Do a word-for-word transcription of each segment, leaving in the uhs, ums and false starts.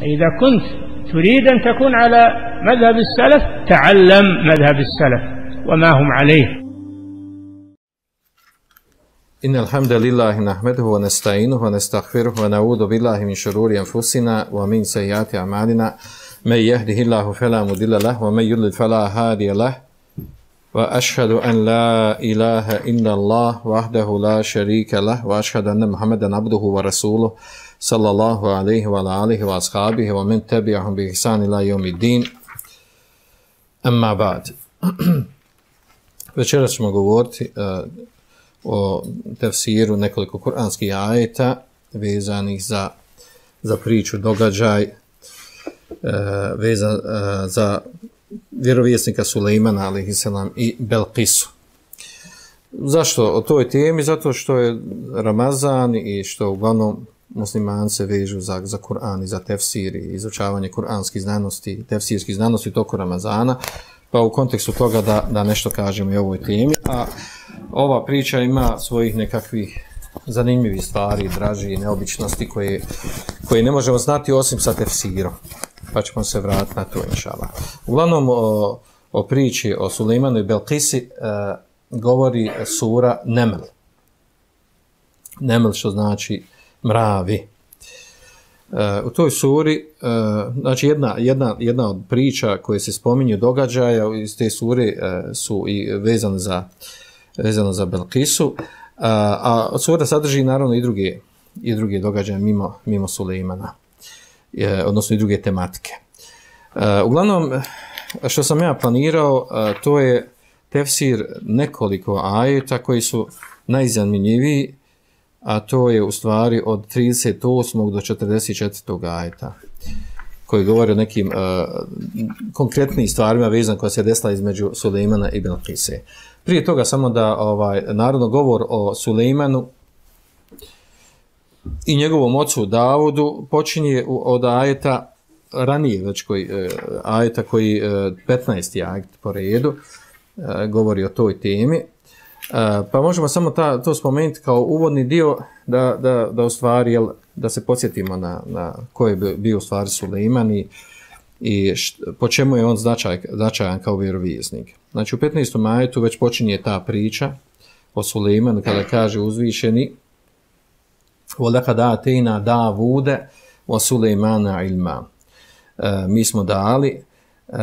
إذا كنت تريد أن تكون على مذهب السلف تعلم مذهب السلف وما هم عليه. إن الحمد لله نحمده ونستعينه ونستغفره ونعوذ بالله من شرور أنفسنا ومن سيئات أعمالنا من يهده الله فلا مضل له ومن يضلل فلا هادي له وأشهد أن لا إله إلا الله وحده لا شريك له وأشهد أن محمدا عبده ورسوله صلى الله عليه وعلى آله وأصحابه ومن تبعهم بإحسان إلى يوم الدين. أما بعد. Večeras ćemo govoriti uh, o tefsiru nekoliko kuranskih ajeta vezanih za, za priču, događaj uh, vezan uh, za vjerovjesnika Sulejmana alejhiselam i Belkisu. Zašto o toj temi? Zato što je Ramazan i što uglavnom muslimani se vežu za, za Kur'an i za tefsir i izučavanje kuranskih znanosti, tefsirskih znanosti toko Ramazana, pa u kontekstu toga da, da nešto kažemo i o ovoj temi. A ova priča ima svojih nekakvih zanimljivih stvari, draži i neobičnosti koje, koje ne možemo znati osim sa tefsirom. Pa ćemo se vratiti na to, inšallah. Uglavnom, o, o priči o Sulejmanu i Belkisi e, govori sura Neml. Neml što znači mravi. E, u toj suri, e, znači jedna, jedna, jedna od priča koje se spominju događaja iz te sure e, su i vezane za, vezane za Belkisu, a, a sura sadrži naravno i druge, i druge događaje mimo, mimo Sulejmana, e, odnosno i druge tematike. E, uglavnom, što sam ja planirao, e, to je tefsir nekoliko ajeta koji su najzanimljiviji, a to je u stvari od trideset osmog do četrdeset četvrtog ajeta, koji govori o nekim uh, konkretnim stvarima vezan koja se desila između Sulejmana i Belkise. Prije toga samo da ovaj narodno govor o Sulejmanu i njegovom ocu Davudu počinje od ajeta ranije, već koji, uh, ajeta koji uh, petnaesti ajet po redu uh, govori o toj temi. Uh, pa možemo samo ta, to spomenuti kao uvodni dio da, da, da u stvari, jel, da se podsjetimo na, na ko je bio u stvari Sulejman i, i št, po čemu je on značaj, značajan kao vjerovjesnik. Znači u petnaestom ajetu već počinje ta priča o Sulejmanu kada kaže uzvišeni وَلَقَدْ آتَيْنَا دَاوُودَ وَسُلَيْمَانَ عِلْمًا. Uh, mi smo dali uh,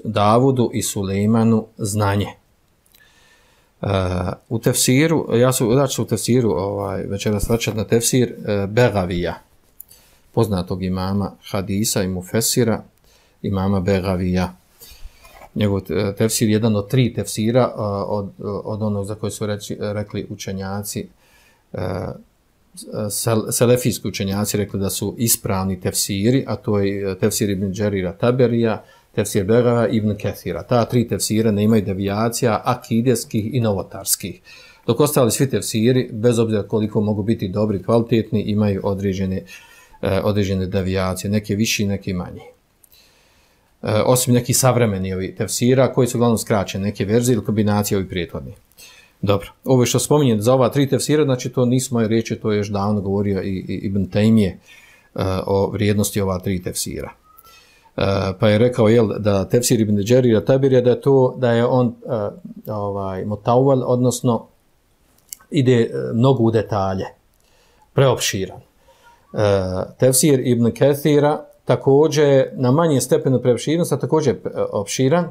Davudu i Sulejmanu znanje. Uh, u tefsiru, ja su znači u tefsiru ovaj večeras vraćat na tefsir uh, Begavija, poznatog imama hadisa i mufesira, imama Begavija. Njegov uh, tefsir je jedan od tri tefsira uh, od, od onog za koje su reči, rekli učenjaci, uh, sel, selefijski učenjaci rekli da su ispravni tefsiri, a to je tefsir Ibn Đerira Taberija, tefsir Begava i Ibn Kethira. Ta tri tefsira ne imaju devijacija akideskih i novotarskih. Dok ostali svi tefsiri, bez obzira koliko mogu biti dobri, kvalitetni, imaju određene, eh, određene devijacije, neke viši, neke manji. Eh, osim nekih savremeni ovi tefsira, koji su uglavnom skraćene, neke verzije ili kombinacije ovih prijetvodnih. Dobro, ovo što spominjem za ova tri tefsira, znači to nisu moje riječi, to je još davno govorio i, i Ibn Tejmije eh, o vrijednosti ova tri tefsira. Uh, pa je rekao jel, da tefsir Ibn Đerira Taberija da je to da je on uh, ovaj mutawwal, odnosno ide uh, mnogo u detalje, preopširan. Uh, tefsir Ibn Kethira također na manjem stepenu preopširnosti, a također uh, opširan,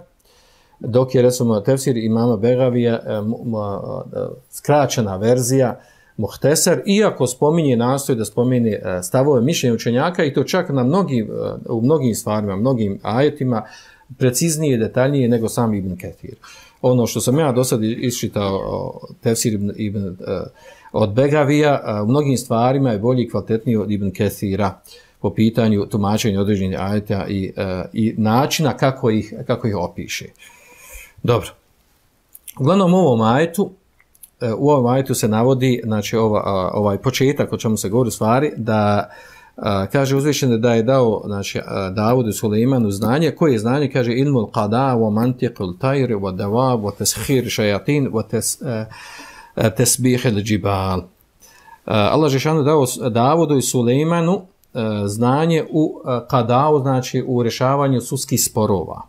dok je recimo tefsir imama Begavija uh, uh, skraćena verzija Muhteser, iako spominje, nastoji da spomine stavove mišljenja učenjaka i to čak na mnogim, u mnogim stvarima, mnogim ajetima, preciznije, detaljnije nego sam Ibn Ketir. Ono što sam ja do sad iščitao tefsir Ibn, Ibn, od Begavija, u mnogim stvarima je bolji i kvalitetniji od Ibn Ketira po pitanju tumačenja određenih ajeta i, i načina kako ih, kako ih opiše. Dobro. Uglavnom u ovom ajetu U ovom ajetu se navodi, znači ova, ovaj početak o čemu se govori stvari, da a, kaže uzvišeno da je dao znači, Davudu i Sulejmanu znanje. Koje je znanje? Kaže ilmul qada wa mantiqul tayr wa dawab wa taskhir shayatin wa tas, tasbih al-jibal. Allah dželešanu dao Davudu i Sulejmanu znanje u kadau, znači u rješavanju sudskih sporova.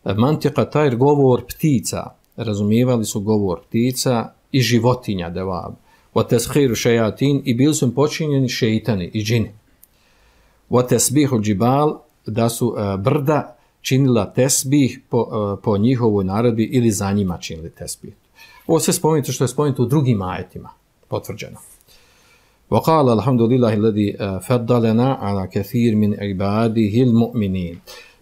Mantika tajr, govor ptica, razumijevali su govor ptica i životinja devab. Wa tashiru shayatin, i bili su počinjeni šejtani i džini. Wa tasbihu džibal, da su uh, brda činila tesbih po, uh, po njihovoj naredbi ili za njima činili tesbih. Ovo sve spomenuto što je spomenuto u drugim ajetima, potvrđeno. Wa qala alhamdulillahi alladhi faddalana ala kathir min ibadihi almu'minin.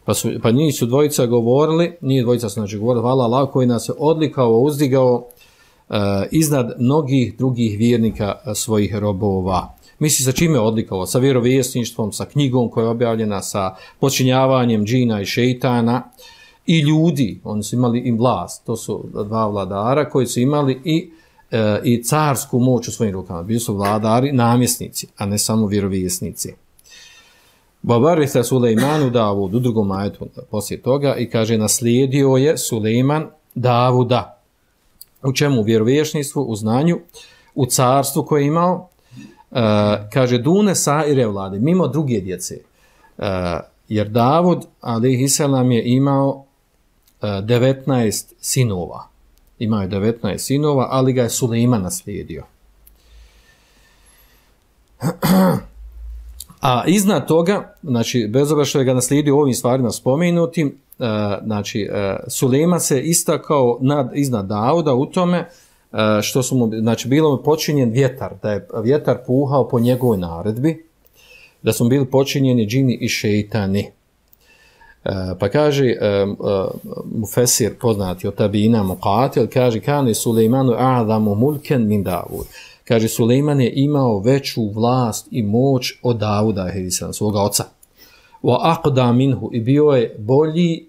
Pa su pa njih su dvojica govorili, njih dvojica su znači govorili hvala Allahu koji nas je odlikao, uzdigao uh, iznad mnogih drugih vjernika uh, svojih robova. Misli sa čime je odlikao? Sa vjerovjesništvom, sa knjigom koja je objavljena, sa počinjavanjem džina i šejtana i ljudi. Oni su imali i vlast, to su dva vladara koji su imali i e, i carsku moć u svojim rukama. Bili su vladari, namjesnici, a ne samo vjerovjesnici. Babaritha Sulejmanu Davud, u drugom ajetu poslije toga, i kaže naslijedio je Sulejman Davuda. U čemu? U vjerovjesništvu, u znanju, u carstvu koje je imao. Uh, kaže dune saire vlade, mimo druge djece, uh, jer Davud alejhiselam je imao uh, devetnaest sinova, imao je devetnaest sinova, ali ga je Sulejman naslijedio. A iznad toga, znači bez obzira što je ga naslijedio ovim stvarima spomenutim, uh, znači uh, Sulejman se istakao nad, iznad Davuda u tome što su mu, znači bilo mu počinjen vjetar, da je vjetar puhao po njegovoj naredbi, da su bili počinjeni džini i šejtani. Pa kaže Mufesir, poznati od tabina Muqatil, kaže kane Sulejmanu a'zamu mulken min Davud. Kaže Sulejman je imao veću vlast i moć od Davuda, svoga oca. Wa aqda minhu, i bio je bolji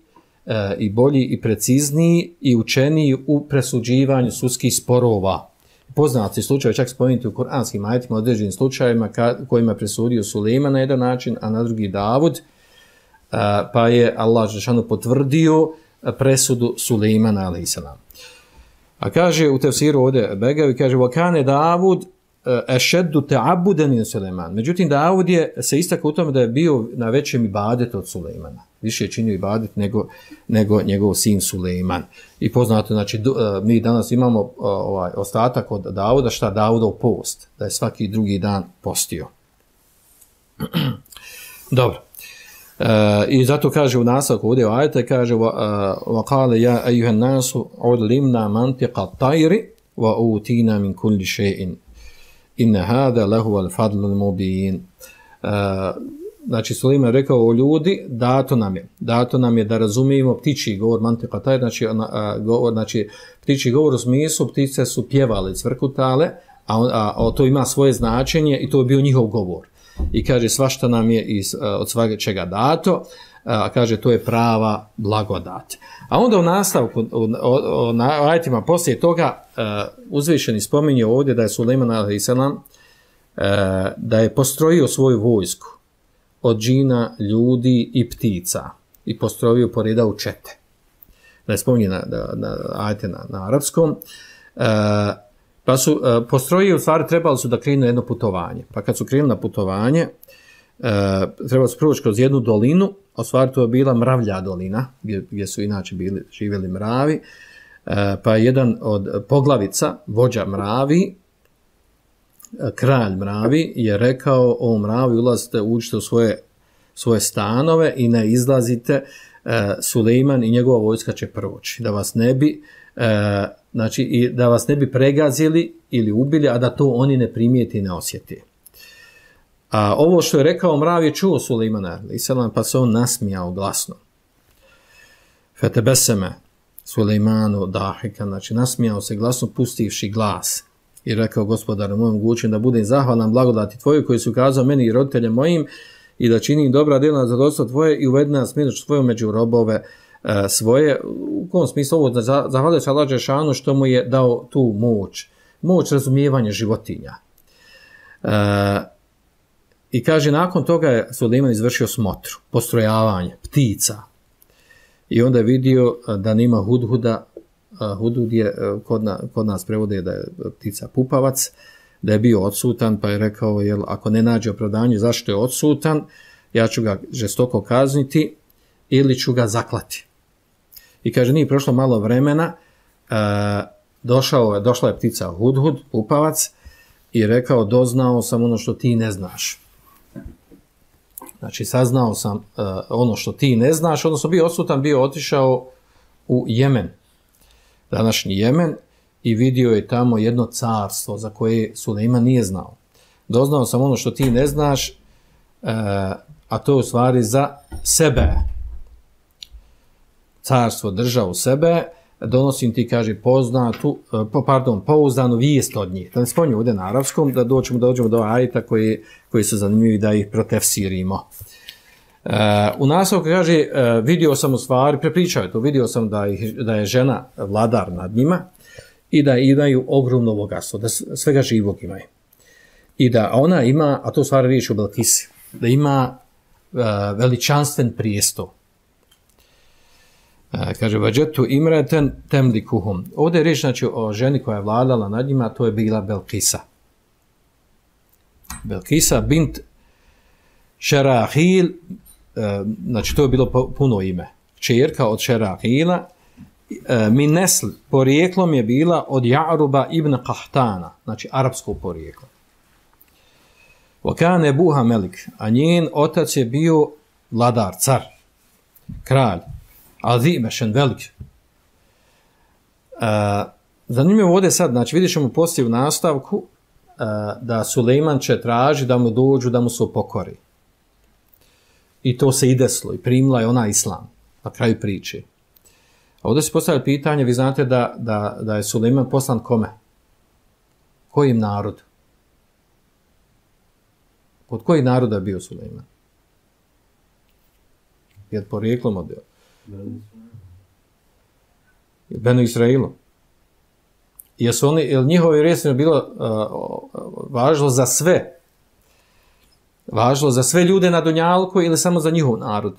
E, i bolji i precizniji i učeniji u presuđivanju sudskih sporova. Poznati slučaj, čak spomenuti u kuranskim ajetima, određenim slučajima ka, kojima je presudio Sulejman na jedan način, a na drugi Davud, a, pa je Allah dželešanu potvrdio presudu Sulejmana alejhiselam. A kaže u tefsiru ovdje Begavi, kaže vakane Davud ešeddu ta'abudan min Sulejman. Međutim, Davud je se istakao u tome da je bio na većem ibadetu od Sulejmana. Više je činio ibadet nego, nego njegov sin Sulejman. I poznato, znači, mi danas imamo ovaj ostatak od Davuda, šta Davudov post, da je svaki drugi dan postio. Dobro. Uh, I zato kaže u nastavku ovdje ajeta, kaže wa qala ja ejuhan nasu udlimna mantiqa tajri wa utina min kulli shay'in inna hada lahu al-fadlu al-mubin. Uh, znači Sulejman rekao o ljudi, dato nam je, dato nam je da razumijemo ptičji govor, mantiqa tajr, znači, uh, govor, znači ptičji govor u smislu, ptice su pjevale, cvrkutale, a, on, a, a to ima svoje značenje i to je bio njihov govor. I kaže svašta nam je iz, od svega čega dato, a kaže to je prava blagodat. A onda u nastavku, u, u, u ajetima poslije toga, uh, uzvišeni spominje ovdje da je Sulejman alejhiselam uh, da je postrojio svoju vojsku od džina, ljudi i ptica i postrojio poreda u čete. Da je spominje na, na, na ajete na, na arapskom. Uh, Pa su uh, postrojili, u stvari trebali su da krenu jedno putovanje. Pa kad su krenuli na putovanje, uh, trebali su proći kroz jednu dolinu, a u stvari to je bila mravlja dolina, gdje, gdje su inače bili, živjeli mravi. Uh, pa jedan od poglavica, vođa mravi, uh, kralj mravi, je rekao o mravi, ulazite, uđite u svoje, svoje stanove i ne izlazite, uh, Sulejman i njegova vojska će proći, da vas ne bi... Uh, znači i da vas ne bi pregazili ili ubili, a da to oni ne primijeti i ne osjeti. A ovo što je rekao mrav je čuo Sulejman alejhiselam, pa se on nasmijao glasno. Fetebeseme Sulejmanu dahika, znači nasmijao se glasno pustivši glas i rekao gospodaru mojom mogućim da budem zahvalan blagodati tvoju koji su ukazao meni i roditelje mojim i da činim dobra djela na zadovoljstvo tvoje i uvedi nas milošću tvoju među robove svoje. U kom smislu ovo, zahvaljujem se Allah dželešanu što mu je dao tu moć, moć razumijevanja životinja. E, I kaže, nakon toga je Sulejman izvršio smotru, postrojavanje ptica. I onda je vidio da nema hudhuda, hudhud je, kod, na, kod nas prevode da je ptica pupavac, da je bio odsutan, pa je rekao, jel, ako ne nađe opravdanje zašto je odsutan, ja ću ga žestoko kazniti ili ću ga zaklati. I kaže, nije prošlo malo vremena, e, došao, došla je ptica Hudhud, upavac, i rekao, doznao sam ono što ti ne znaš. Znači, saznao sam uh, ono što ti ne znaš, odnosno bio odsutan, bio otišao u Jemen, današnji Jemen, i vidio je tamo jedno carstvo za koje Sulejman nije znao. Doznao sam ono što ti ne znaš, uh, a to je u stvari za sebe. Carstvo držao sebe, donosim ti, kaže, poznatu, uh, pardon, pouzdanu vijest od njih. Da ne spominju ovdje na arapskom, da doćemo, da dođemo do ajeta koji, koji su zanimljivi da ih protefsirimo. Uh, u nastavku kaže, uh, vidio sam u stvari, prepričao je to, vidio sam da, ih, da je žena vladar nad njima i da imaju ogromno bogatstvo, da svega živog imaju. I da ona ima, a to u stvari riječ u Belkisi, da ima uh, veličanstven prijestol. Uh, kaže, vađetu imreten temlikuhum. Ovdje je riječ, znači, o ženi koja je vladala nad njima, to je bila Belkisa. Belkisa bint Šerahil, znači to je bilo puno ime, čerka od Šerahila, min nesl, porijeklom je bila od Ja'ruba ibn Qahtana, znači arapsko porijeklo. Vakane buha melik, a njen otac je bio vladar, car, kralj, azimešen, velik. Zanimljivo ovdje sad, znači vidjet ćemo poslije u nastavku da Sulejman će traži da mu dođu, da mu se upokori. I to se i desilo, i primila je ona islam, na kraju priče. A ovdje se postavlja pitanje, vi znate da, da, da je Sulejman poslan kome? Kojim narodu? Pod koji naroda je bio Sulejman? Je porijeklom od Benu Israilu. Jesu oni, je li njihovo vjerovanje bilo uh, važno za sve? Važno za sve ljude na Dunjalku ili samo za njihov narod?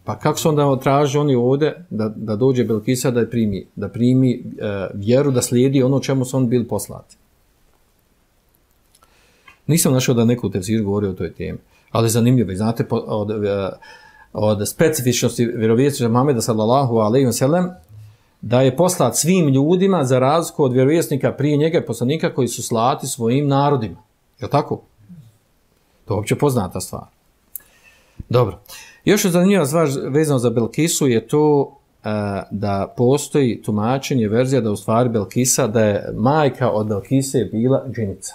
Pa kako su onda traži oni ovdje da, da dođe Belkisa da primi, da primi uh, vjeru, da slijedi ono čemu su oni bili poslati? Nisam našao da neko u tefsiru govori o toj temi, ali zanimljivo. Znate, od, od specifičnosti vjerovjesnika Muhameda sallallahu alejhi ve sellem da je poslat svim ljudima za razliku od vjerovjesnika prije njega poslanika koji su slati svojim narodima. Je li tako? To je uopće poznata stvar. Dobro. Još je zanimljiva stvar vezano za Belkisu je to uh, da postoji tumačenje, verzija da u stvari Belkisa, da je majka od Belkise bila džinica.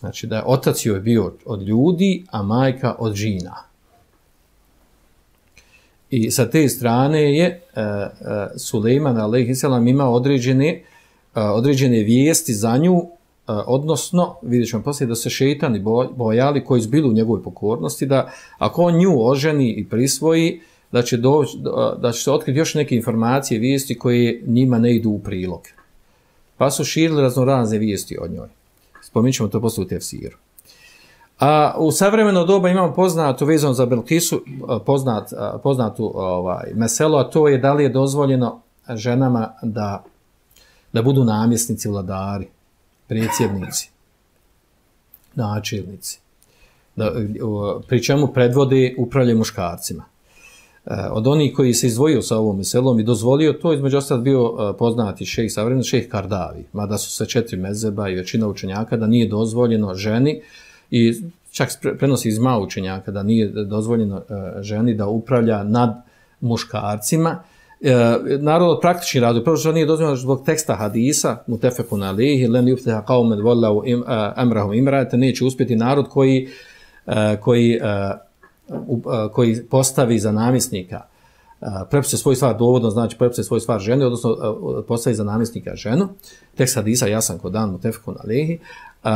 Znači da je otac joj bio od ljudi, a majka od džina. I sa te strane je uh, uh, Sulejman alejhi selam imao određene, uh, određene vijesti za nju, uh, odnosno, vidjet ćemo poslije, da se šejtani bojali koji su bili u njegovoj pokornosti, da ako on nju oženi i prisvoji, da će, doći, da će se otkriti još neke informacije, vijesti koje njima ne idu u prilog. Pa su širili raznorazne vijesti od njoj. Spominut ćemo to poslije u tefsiru. A u savremeno doba imamo poznatu vezano za Belkisu, poznat, poznatu ovaj, meselo, a to je da li je dozvoljeno ženama da, da budu namjesnici, vladari, predsjednici, načelnici, da, pri čemu predvode upravljaju muškarcima. Od onih koji se izdvojio sa ovom meselom i dozvolio to, između ostalog bio poznati šejh, savremeni šejh Kardavi, mada su se četiri mezeba i većina učenjaka da nije dozvoljeno ženi, i čak prenosi iz malo učenjaka da nije dozvoljeno ženi da upravlja nad muškarcima. Naravno, od praktičnih razloga, prvo što nije dozvoljeno zbog teksta hadisa, mutefekun alejhi, len yufliha qaumen wallau amrahum imra'atan, neće uspjeti narod koji, koji, koji postavi za namjesnika, prepise svoj stvar dovodno, znači prepise svoj stvar žene, odnosno postavi za namjesnika ženu. Tekst hadisa jasan kod dan, mutefekun alejhi. Uh,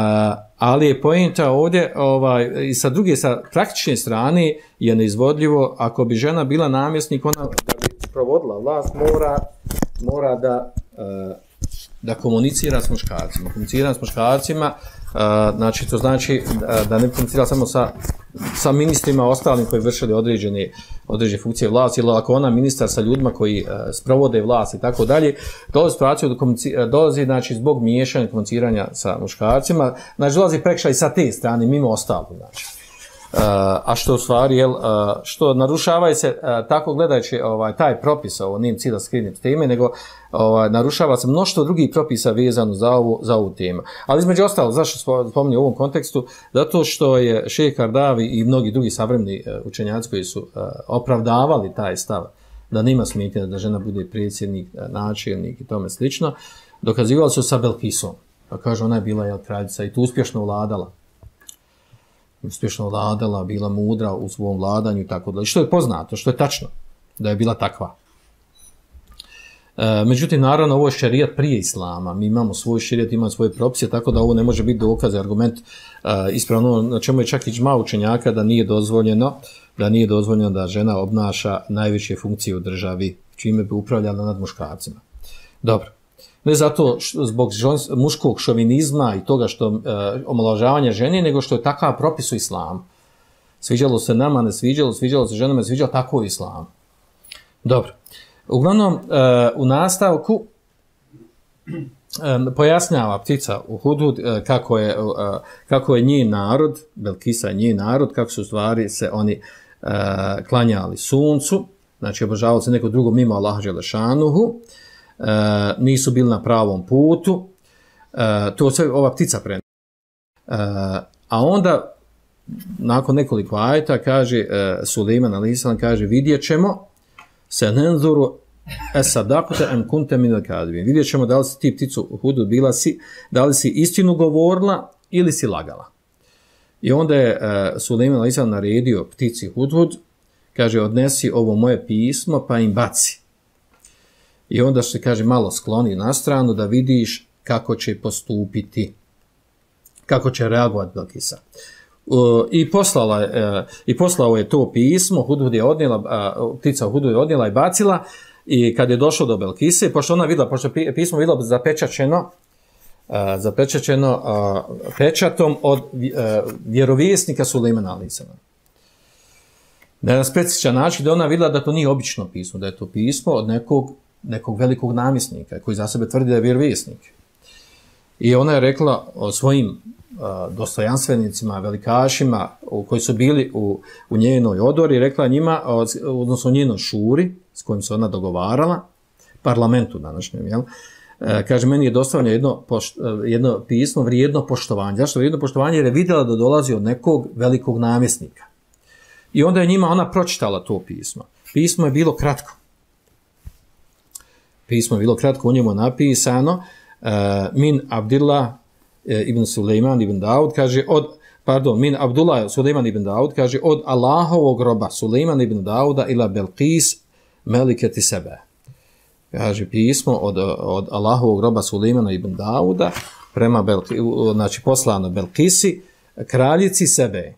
ali je pojenta ovdje ovaj, i sa druge, sa praktične strane je neizvodljivo, ako bi žena bila namjesnik, ona da bi provodila vlast mora, mora da, uh, da komunicira s muškarcima. Komunicira s muškarcima, uh, znači to znači da, da ne komunicira samo sa sa ministrima ostalim koji vršili određene, određene funkcije vlasti, ili ako ona ministar sa ljudima koji uh, sprovode vlast i tako dalje, dolazi situaciju do dolazi znači, zbog miješanja komuniciranja sa muškarcima, znači dolazi prekršaj sa te strane, mimo ostalog. Znači. Uh, a što u stvari, jel, uh, što narušava se, uh, tako gledajući ovaj, taj propis, ovo nijem cilj da skrinim s teme, nego ovaj, narušava se mnoštvo drugih propisa vezano za ovu, za ovu temu. Ali između ostalo, zašto spominjem u ovom kontekstu? Zato što je šejh Kardavi i mnogi drugi savremeni uh, učenjaci koji su uh, opravdavali taj stav da nema smetnje da žena bude predsjednik, uh, načelnik i tome slično, dokazivali su sa Belkisom. Pa kaže, ona je bila jel, kraljica i tu uspješno vladala. uspješno vladala, bila mudra u svom vladanju i tako dalje. Što je poznato, što je tačno, da je bila takva. E, međutim, naravno, ovo je šerijat prije islama. Mi imamo svoj šerijat, imamo svoje propise, tako da ovo ne može biti dokaz, argument e, ispravno, na čemu je čak i džma učenjaka da nije dozvoljeno, da nije dozvoljeno da žena obnaša najveće funkcije u državi, čime bi upravljala nad muškarcima. Dobro. Ne zato što, zbog žons, muškog šovinizma i toga što e, omalovažavanje žene, nego što je takav propis u islamu. Sviđalo se nama, ne sviđalo, sviđalo se ženama, ne sviđalo, tako u islamu. Dobro. Uglavnom, e, u nastavku e, pojasnjava ptica u Hudhud e, kako, je, e, kako je njen narod, Belkisa je njen narod, kako su u stvari se oni e, klanjali suncu, znači obožavali se neko drugo mimo Allaha dželešanuhu, Uh, nisu bili na pravom putu, uh, to sve ova ptica prenosi. Uh, a onda, nakon nekoliko ajeta, kaže, uh, Sulejman alejhi selam kaže, vidjet ćemo se nenzuru esadakute em kunte minel kadibin. Vidjet ćemo da li si ti pticu Hudhud bila si, da li si istinu govorila ili si lagala. I onda je uh, Sulejman alejhi selam naredio ptici Hudhud, kaže, odnesi ovo moje pismo pa im baci. I onda se kaže malo skloni na stranu da vidiš kako će postupiti, kako će reagovati Belkisa. Uh, I poslala uh, i poslao je to pismo, Hudhud je odnijela, uh, ptica Hudhud je odnijela i bacila, i kad je došlo do Belkise, pošto ona videla, pošto pismo videla zapečaćeno, uh, zapečaćeno uh, pečatom od uh, vjerovjesnika Sulejmana alejhi selam. Na jedan specifičan način da ona videla da to nije obično pismo, da je to pismo od nekog nekog velikog namjesnika koji za sebe tvrdi da je vjerovjesnik. I ona je rekla o svojim uh, dostojanstvenicima, velikašima u, koji su bili u, u njenoj odori, rekla njima, odnosno njenoj šuri s kojim se ona dogovarala, parlamentu današnjem, jel? E, kaže, meni je dostavljeno jedno, pošt, jedno pismo vrijedno poštovanje. Zašto vrijedno poštovanje? Jer je vidjela da dolazi od nekog velikog namjesnika. I onda je njima ona pročitala to pismo. Pismo je bilo kratko. Pismo je bilo kratko, u njemu napisano uh, min Abdillah uh, ibn Sulejman ibn Daud, kaže od, pardon, min Abdullah Sulejman ibn Daud, kaže od Allahovog roba Sulejman ibn Dauda ila Belkis meliketi sebe. Kaže pismo od, od Allahovog roba Sulejmana ibn Dauda prema Belki, znači poslano Belkisi, kraljici sebe.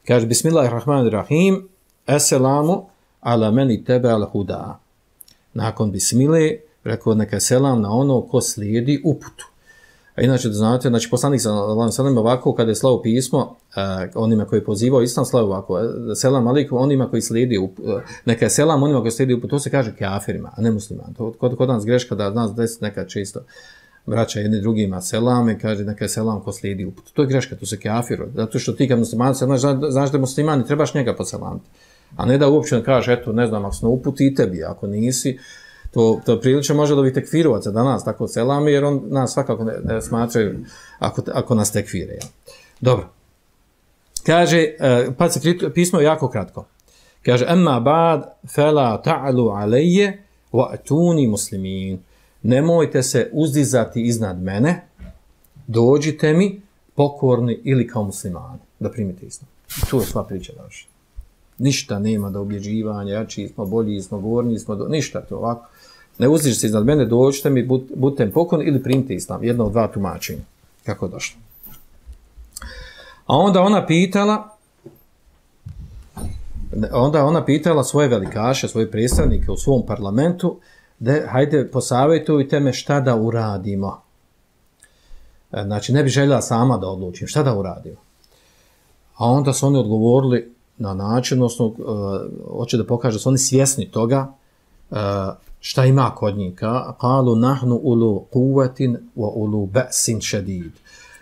Kaže bismillahirrahmanirrahim, esselamu ala meni tebe al huda. Nakon bismile, rekao neka selam na ono ko slijedi uputu. A inače da znate, znači poslanik sallallahu alejhi ve sellem ovako kada je slao pismo eh, onima koji pozivao islam, slao ovako selam alejkum onima koji slijedi uputu, eh, neka selam onima koji slijedi uputu, to se kaže kafirima, a ne muslimanima. To kod, kod nas greška da nas deset neka čisto vraća jedni drugima selame, kaže neka selam ko slijedi uputu. To je greška, to se kafiru. Zato što ti kad musliman znaš, znaš da je musliman i trebaš njega poselamiti. A ne da uopće kaže, eto, ne znam, ako smo uputi i tebi, ako nisi, to, to prilično može dobiti tekfirovaca da nas tako selami, jer on nas svakako ne, ne smatraju ako, ako nas tekfire. Ja. Dobro. Kaže, pa se pismo je jako kratko. Kaže, emma ba'd fela ta'alu alejje wa atuni muslimin. Nemojte se uzdizati iznad mene, dođite mi pokorni ili kao muslimani, da primite islam. I to je sva priča vaša. Ništa nema da objeđivanja, jači smo, bolji smo, govorni smo, do... ništa to ovako. Ne uzdiži se iznad mene, dođite mi, budite pokorni ili primite islam. Jedno od dva tumačenja. Kako je došlo. A onda ona pitala, onda ona pitala svoje velikaše, svoje predstavnike u svom parlamentu, da hajde posavjetujte me šta da uradimo. Znači ne bi željela sama da odlučim, šta da uradimo. A onda su oni odgovorili na način, odnosno, uh, hoće da pokaže da su oni svjesni toga uh, šta ima kod njih. Kalu nahnu ulu kuvatin wa ulu ba'sin šedid.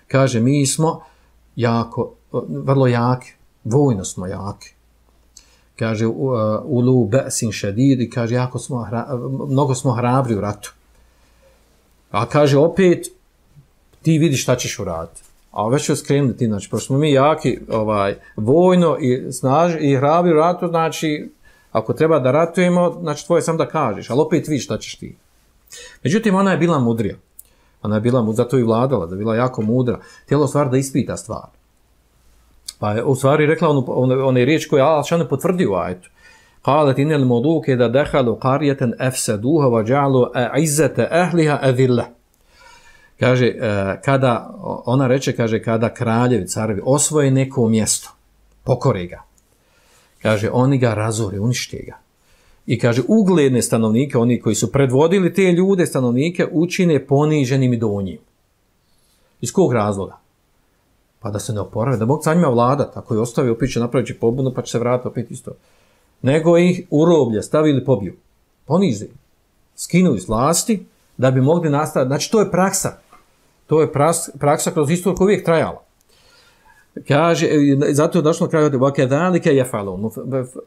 Kaže, mi smo jako, vrlo jaki, vojno smo jaki. Kaže, uh, ulu ba'sin šedid i kaže, jako smo, hra, mnogo smo hrabri u ratu. A kaže, opet, ti vidiš šta ćeš uraditi. A već ću skrenuti, znači, pošto smo mi jaki ovaj, vojno i snaži i hrabri u ratu, znači, ako treba da ratujemo, znači, tvoje sam da kažeš, ali opet vidiš šta ćeš ti. Međutim, ona je bila mudrija. Ona je bila, zato i vladala, da je bila jako mudra. Htjela u stvari da ispita stvar. Pa je u stvari rekla onu, one, one riječ koje Allah šane potvrdio u ajetu. Qalet inel moduke da dehalu qarijeten efseduha wa ja'alu izzete ahliha adilla. Kaže, kada, ona reče, kaže, kada kraljevi, carevi osvoje neko mjesto, pokore ga. Kaže, oni ga razore, unište ga. I kaže, ugledne stanovnike, oni koji su predvodili te ljude, stanovnike, učine poniženim i donjim. Iz kog razloga? Pa da se ne oporave, da mogu sa njima vladat, ako je ostavio, opet će napraviti pobunu, pa će se vratiti opet isto. Nego ih u roblje stavili pobiju. Ponižili. Skinuli s vlasti, da bi mogli nastaviti. Znači, to je praksa. To je praksa kroz istoriju koja uvijek trajala. Kaže, zato je došlo na kraju vakedalike jefalun.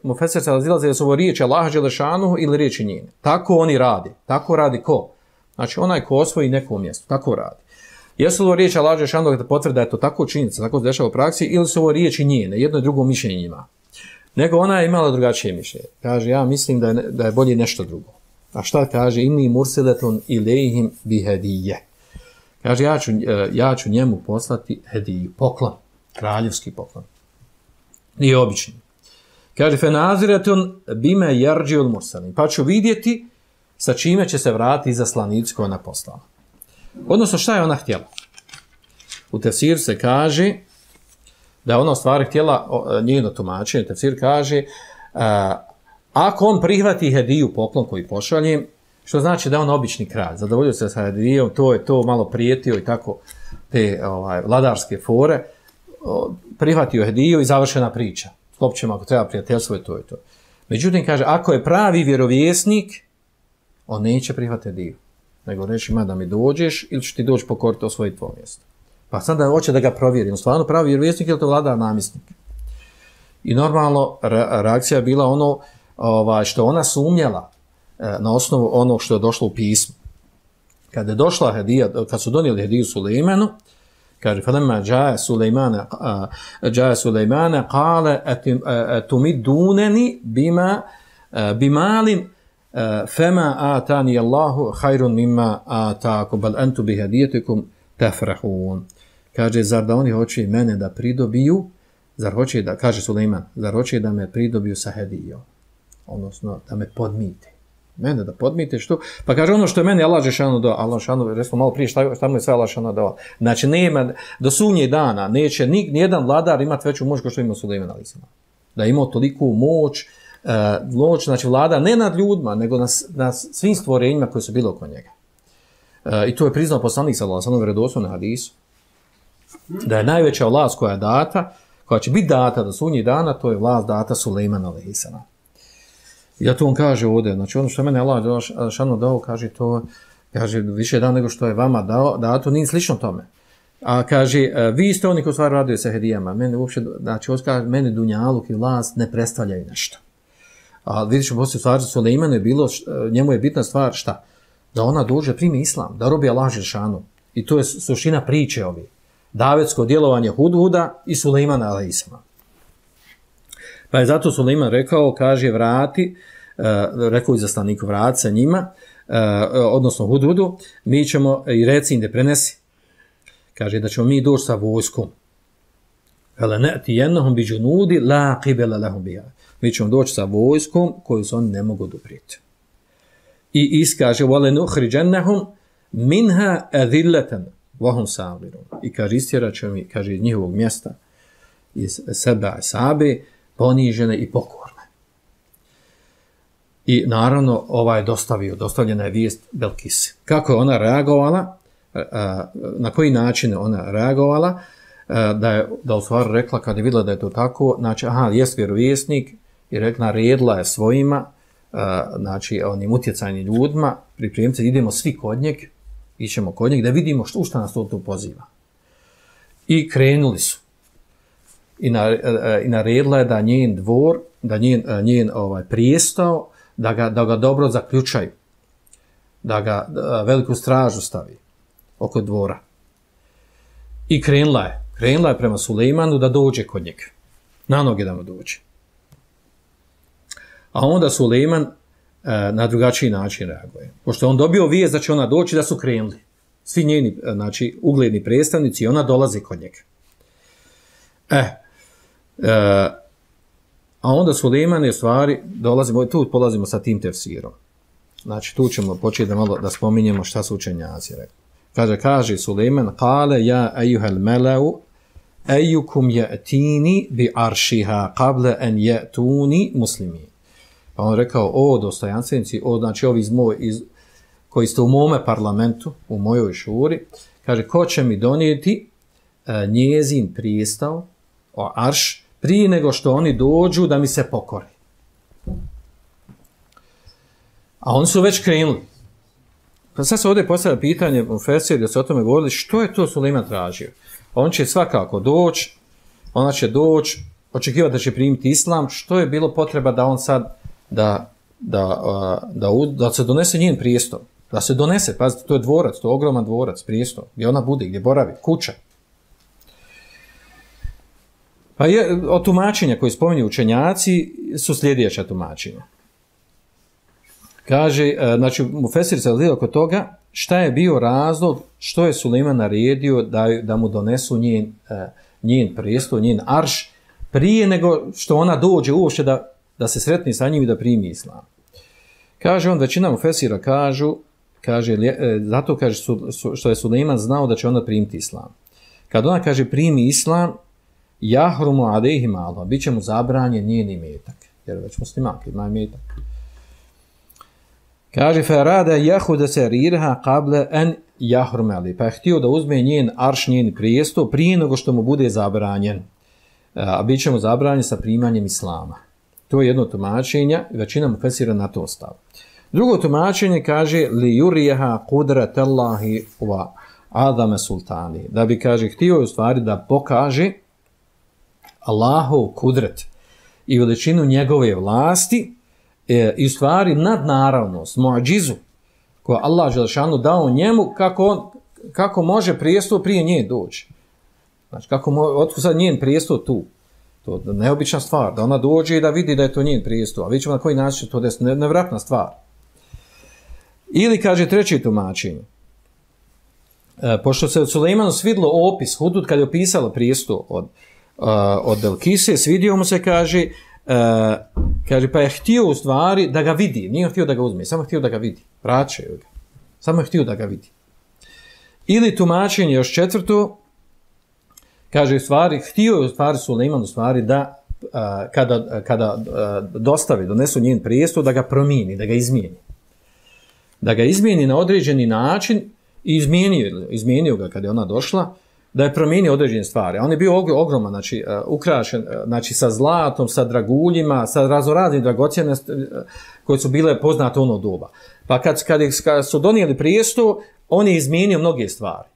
Mufesir se razilaze da su ovo riječi Allaha dželešanuhu ili riječi njene. Tako oni radi. Tako radi ko? Znači, onaj ko osvoji neko mjesto. Tako radi. Jesu li ovo riječi Allaha dželešanuhu da potvrde da je to tako činjenica, tako se dešava u praksi, ili su ovo riječi njene, jedno i drugo mišljenje ima. Nego ona je imala drugačije mišljenje. Kaže, ja mislim da je, da je bolje nešto drugo. A šta kaže? Inni mursiletun ilejhim bihedije. Kaže, ja ću, ja ću njemu poslati hediju, poklon, kraljevski poklon. Nije obični. Kaže, fenaziretun bime jarđiul mursalin. Pa ću vidjeti sa čime će se vratiti zaslanici koja ona poslala. Odnosno, šta je ona htjela? U tefsiru se kaže da je ona u stvari htjela njeno tumačenje. Tefsir kaže, a, ako on prihvati hediju, poklon koji pošalje, što znači da je on obični kralj, zadovoljio se sa hedijom, to je to malo prijetio i tako te ovaj, vladarske fore, prihvatio hediju i završena priča. Sklopit ćemo ako treba prijateljstvo i to je to. Međutim, kaže, ako je pravi vjerovjesnik, on neće prihvatiti hediju. Nego reći, ma da mi dođeš ili ću ti doći pokoriti osvojiti tvoje mjesto. Pa sada hoće da ga provjeri. On stvarno pravi vjerovjesnik ili to vladar namjesnik. I normalno reakcija je bila ono ovaj, što ona sumnjala na osnovu onog što je došlo u pismu. Kad je došla hedija, kad su donijeli hediju Sulejmanu, kaže, فَلَمَّا جَاءَ سُلَيْمَانَ جَاءَ سُلَيْمَانَ قَالَ أَتُمِدُّونَنِ بِمَا بِمَالٍ فَمَا آتَانِيَ اللَّهُ خَيْرٌ مِمَّا آتَاكُمْ بَلْ أَنْتُ بِهَدِيَتِكُمْ تَفْرَحُونَ. Kaže, zar da oni hoće mene da pridobiju, zar hoće da, kaže Sulejman, zar hoće da me pridobiju sa hedijom, odnosno da me podmite. Mene da podmite, što? Pa kaže, ono što je meni Allah dželešanu dao, Allah dželešanu, resmo malo prije, šta, šta mu je sve Allah dželešanu dao. Znači, nema, do sunnjeg dana neće ni, nijedan vladar imati veću moć kao što ima Sulejman alejhi selam. Da je imao toliku moć, uh, moć, znači vlada ne nad ljudima, nego na, na svim stvorenjima koji su bili oko njega. Uh, I to je priznao poslanik sallallahu alejhi ve sellem vjerodostojno na hadisu. Da je najveća vlast koja je data, koja će biti data do sunnjeg dana, to je vlast data Sulejmanu alejhi selam. I da to on kaže ovdje, znači ono što je mene Allah šano dao, kaže to, kaže više dan nego što je vama dao, da to nije slično tome. A kaže, vi ste oni koji stvar radiju sa hedijama, mene uopće, znači kaže, mene dunjaluk i vlast ne predstavljaju nešto. A vidiš, poslije stvari Sulejmanu je bilo, njemu je bitna stvar šta? Da ona dođe, primi islam, da robi Allah dželešanu. I to je suština priče ovi. Davetsko djelovanje Hudhuda i Sulejmana alejhi selam. Pa je zato Sulejman rekao, kaže, vrati, uh, rekao izaslaniku, vrati sa njima, uh, odnosno Hudhudu, mi ćemo, i reci im da prenesi, kaže da ćemo mi doći sa vojskom. Hele ne'ti jednohom bi džunudi, la qibela lahum biha. Mi ćemo doći sa vojskom koju se oni ne mogu doprijeti. I iskaže, vale nuhriđennehum minha adillatan vahum sabirun. I kaže, istjerat ćemo mi, kaže, iz njihovog mjesta, iz sebe i sabe, ponižene i pokorne. I naravno ovaj je dostavio, dostavljena je vijest Belkisi. Kako je ona reagovala, na koji način ona reagovala, da je da u stvari rekla kad je vidjela da je to tako, znači aha, jest vjerovjesnik i rekla, naredila je svojima, znači onim utjecajnim ljudima, pripremite, idemo svi kod njeg, ićemo kod njeg da vidimo što, u šta nas to tu poziva. I krenuli su. I, na, i naredila je da njen dvor, da njen, njen ovaj, prijestao, da ga, da ga dobro zaključaju, da ga da veliku stražu stavi oko dvora. I krenula je, krenula je prema Sulejmanu da dođe kod njega, na noge da mu dođe. A onda Sulejman e, na drugačiji način reaguje. Pošto on dobio vijest da će ona doći, da su krenuli. Svi njeni, znači, ugledni predstavnici, i ona dolazi kod njega. E, e, a onda Sulejman je stvari, dolazimo, tu polazimo sa tim tefsirom. Znači, tu ćemo početi da malo da spominjemo šta su učenjaci rekli. Kaže, kaže Sulejman, kale ja ejuhel meleu, ejukum je'tini bi aršiha kable en je'tuni muslimin. Pa on rekao, o dostojanstvenici, o, znači ovi iz moj, iz, koji ste u mome parlamentu, u mojoj šuri, kaže, ko će mi donijeti e, njezin pristav, o arš, prije nego što oni dođu da mi se pokori. A oni su već krenuli. Pa sad se ovdje postavlja pitanje u Fesir, da se o tome govorili, što je to Sulejman tražio? On će svakako doći, ona će doći, očekivati da će primiti islam, što je bilo potreba da on sad, da, da, da, da, da se donese njen prijestol. Da se donese, pazite, to je dvorac, to je ogroman dvorac, prijestol, gdje ona bude, gdje boravi, kuća. Pa je, od tumačenja koje spominju učenjaci su sljedeća tumačenja. Kaže, znači, Mufesir se odlio oko toga, šta je bio razlog, što je Sulejman naredio da, da mu donesu njen, njen prijestol, njen arš, prije nego što ona dođe uopšte da, da se sretni sa njim i da primi islam. Kaže on, većina Mufesira kažu, kaže, zato kaže su, su, što je Sulejman znao da će ona primiti islam. Kad ona kaže primi islam, jahrumu alejhi malo, bit će mu zabranjen njen imetak, jer već muslimak ima imetak. Kaže, ferada jahuda se rirha kable en jahrumeli, pa je htio da uzme njen arš, njen prijestol, prije nego što mu bude zabranjen, a bit će mu zabranjen sa primanjem islama. To je jedno tumačenje, većina mu fesira na to stav. Drugo tumačenje kaže, li jurijeha kudratallahi wa adame sultani, da bi, kaže, htio u stvari da pokaže Allahov kudret i veličinu njegove vlasti, E, i u stvari nadnaravnost, muadžizu, koju Allah Želešanu dao njemu, kako, on, kako može prijestol prije nje doći. Znači, kako mo, otkud sad njen prijestol tu? To je neobična stvar, da ona dođe i da vidi da je to njen prijestol, a vidjet ćemo na koji način to je nevratna stvar. Ili, kaže treće tumačenje, e, pošto se od Sulejmanu svidlo opis, Hudud kad je opisala prijestol od, uh, od Belkise, svidio mu se, kaže, Uh, kaže, pa je htio u stvari da ga vidi, nije htio da ga uzme, samo htio da ga vidi, vraćaju ga, samo je htio da ga vidi. Ili tumačenje još četvrto, kaže, u stvari, htio je u stvari Sulejman u stvari da uh, kada, kada uh, dostavi, donesu njen prijestol, da ga promijeni, da ga izmijeni. Da ga izmijeni na određeni način i izmijenio, izmijenio ga kada je ona došla, da je promijenio određene stvari. On je bio ogroman, znači, uh, ukrašen, uh, znači, sa zlatom, sa draguljima, sa raznoraznim dragocjenostima uh, koje su bile poznate ono doba. Pa kad, kad, kad su donijeli prijestol, on je izmijenio mnoge stvari.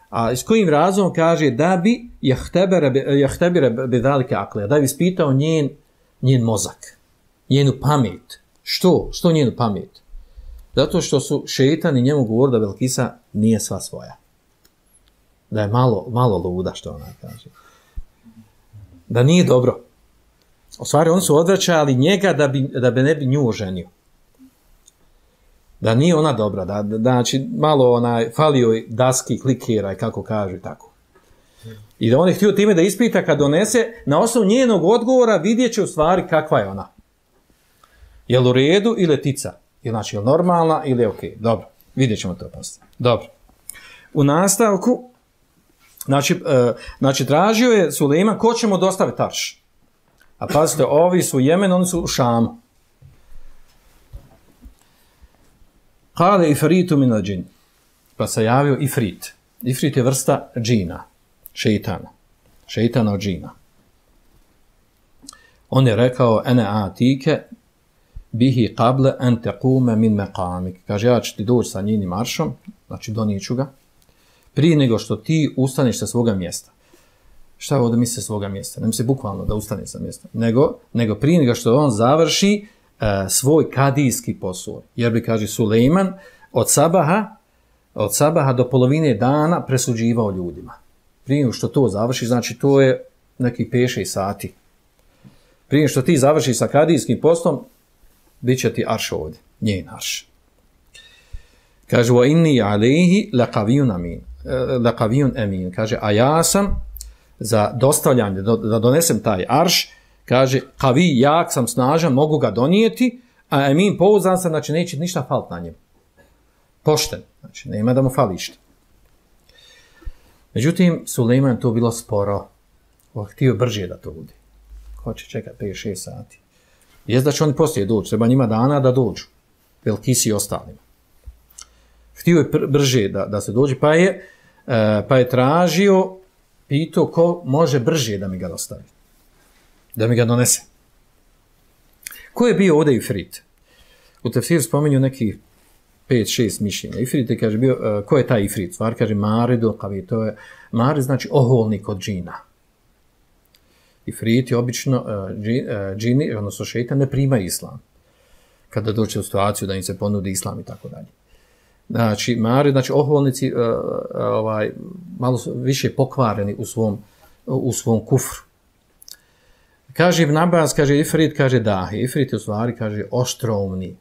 A s kojim razlogom kaže da bi jahtebire bedalike akle, da bi ispitao njen, njen mozak, njenu pamet. Što? Što njenu pamet? Zato što su šejtani njemu govorili da Belkisa nije sva svoja. Da je malo, malo luda, što ona kaže. Da nije dobro. U stvari, oni su odvraćali njega da bi, da bi ne bi nju oženio. Da nije ona dobra, da, da znači malo onaj, falio daski, klikera i kako kaže, tako. I da on je htio time da ispita kad donese, na osnovu njenog odgovora vidjet će u stvari kakva je ona. Je li u redu ili tica? Je, znači, je li normalna ili je okej? Okay. Dobro, vidjet ćemo to poslije. Dobro. U nastavku, znači, e, znači tražio je Sulejman ko će mu dostaviti arš. A pazite, ovi su u Jemenu, oni su u Šamu. Kale ifritu min al-džin. Pa se javio ifrit. Ifrit je vrsta džina, šeitana. šeitana od džina. On je rekao, ene atike bihi qable an tequme min meqamik. Kaže, ja ću ti doći sa njenim maršom, znači donijeću ga, prije nego što ti ustaneš sa svoga mjesta. Šta ovdje misli sa svoga mjesta? Ne misli bukvalno da ustane sa mjesta, nego, nego prije nego što on završi uh, svoj kadijski posao. Jer bi, kaže, Sulejman od sabaha, od sabaha do polovine dana presuđivao ljudima. Prije nego što to završi, znači to je neki pet šest sati. Prije nego što ti završi sa kadijskim poslom, bit će ti arš ovdje, njen arš. Kaže, wa inni alejhi laqaviyun amin. Laqaviyun amin. Kaže, a ja sam za dostavljanje, da donesem taj arš, kaže, kavi, jak sam, snažan, mogu ga donijeti, a amin, pouzdan sam, znači neće ništa falit na njemu. Pošten, znači nema da mu fali išta. Međutim, Sulejman to bilo sporo. On htio brže da to bude. Hoće čekati pet šest sati. Jest da će oni poslije doći, treba njima dana da dođu. Belkisi i ostalima. Htio je brže da, da se dođe, pa je, pa je tražio, pitao ko može brže da mi ga dostavi. Da mi ga donese. Ko je bio ovdje Ifrit? U tefsiru spominju neki pet šest mišljenja. Ifrit je, kaže, bio, ko je taj Ifrit? Stvar, kaže, Maridu, kavi, to je, Marid znači oholnik od džina. Ifrit je obično, uh, džini, odnosno šeitan, ne prima islam. Kada dođe u situaciju da im se ponudi islam i tako dalje. Znači, Marid, znači oholnici, uh, ovaj, malo više pokvareni u svom, u svom kufru. Kaže Ibn Abbas, kaže Ifrit, kaže da, Ifrit je u stvari, kaže, oštromni,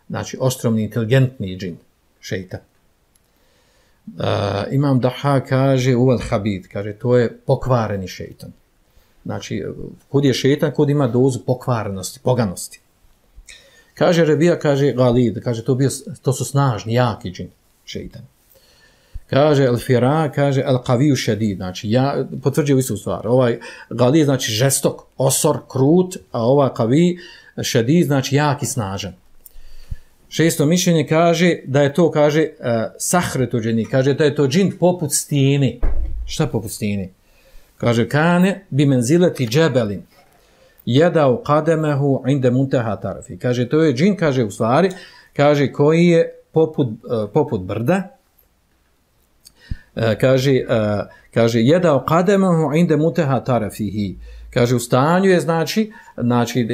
znači oštromni, inteligentni džin, šeitan. Uh, Imam Daha kaže, uval habid, kaže, to je pokvareni šeitan. Znači, kud je šeitan, kud ima dozu pokvarenosti, poganosti. Kaže Rebija, kaže Galid, kaže, to, bio, to su snažni, jaki džin, šeitan. Kaže Al-Fira, kaže Al-Qaviju šedid, znači, ja, potvrđuje istu stvar. Ovaj Galid, znači, žestok, osor, krut, a ova Qavi, šedid, znači, jaki, snažan. Šesto mišljenje kaže da je to, kaže, uh, sahretu džini, kaže da je to džin poput stijeni. Šta poput stijeni? Kaže, kane bi menzileti džebelin, jedao kademehu inde munteha tarfi. Kaže, to je džin, kaže, u stvari, kaže, koji je poput, uh, poput brda, uh, kaže, uh, kaže, jedao kademehu inde munteha tarfihi. Kaže, u stanju je, znači, znači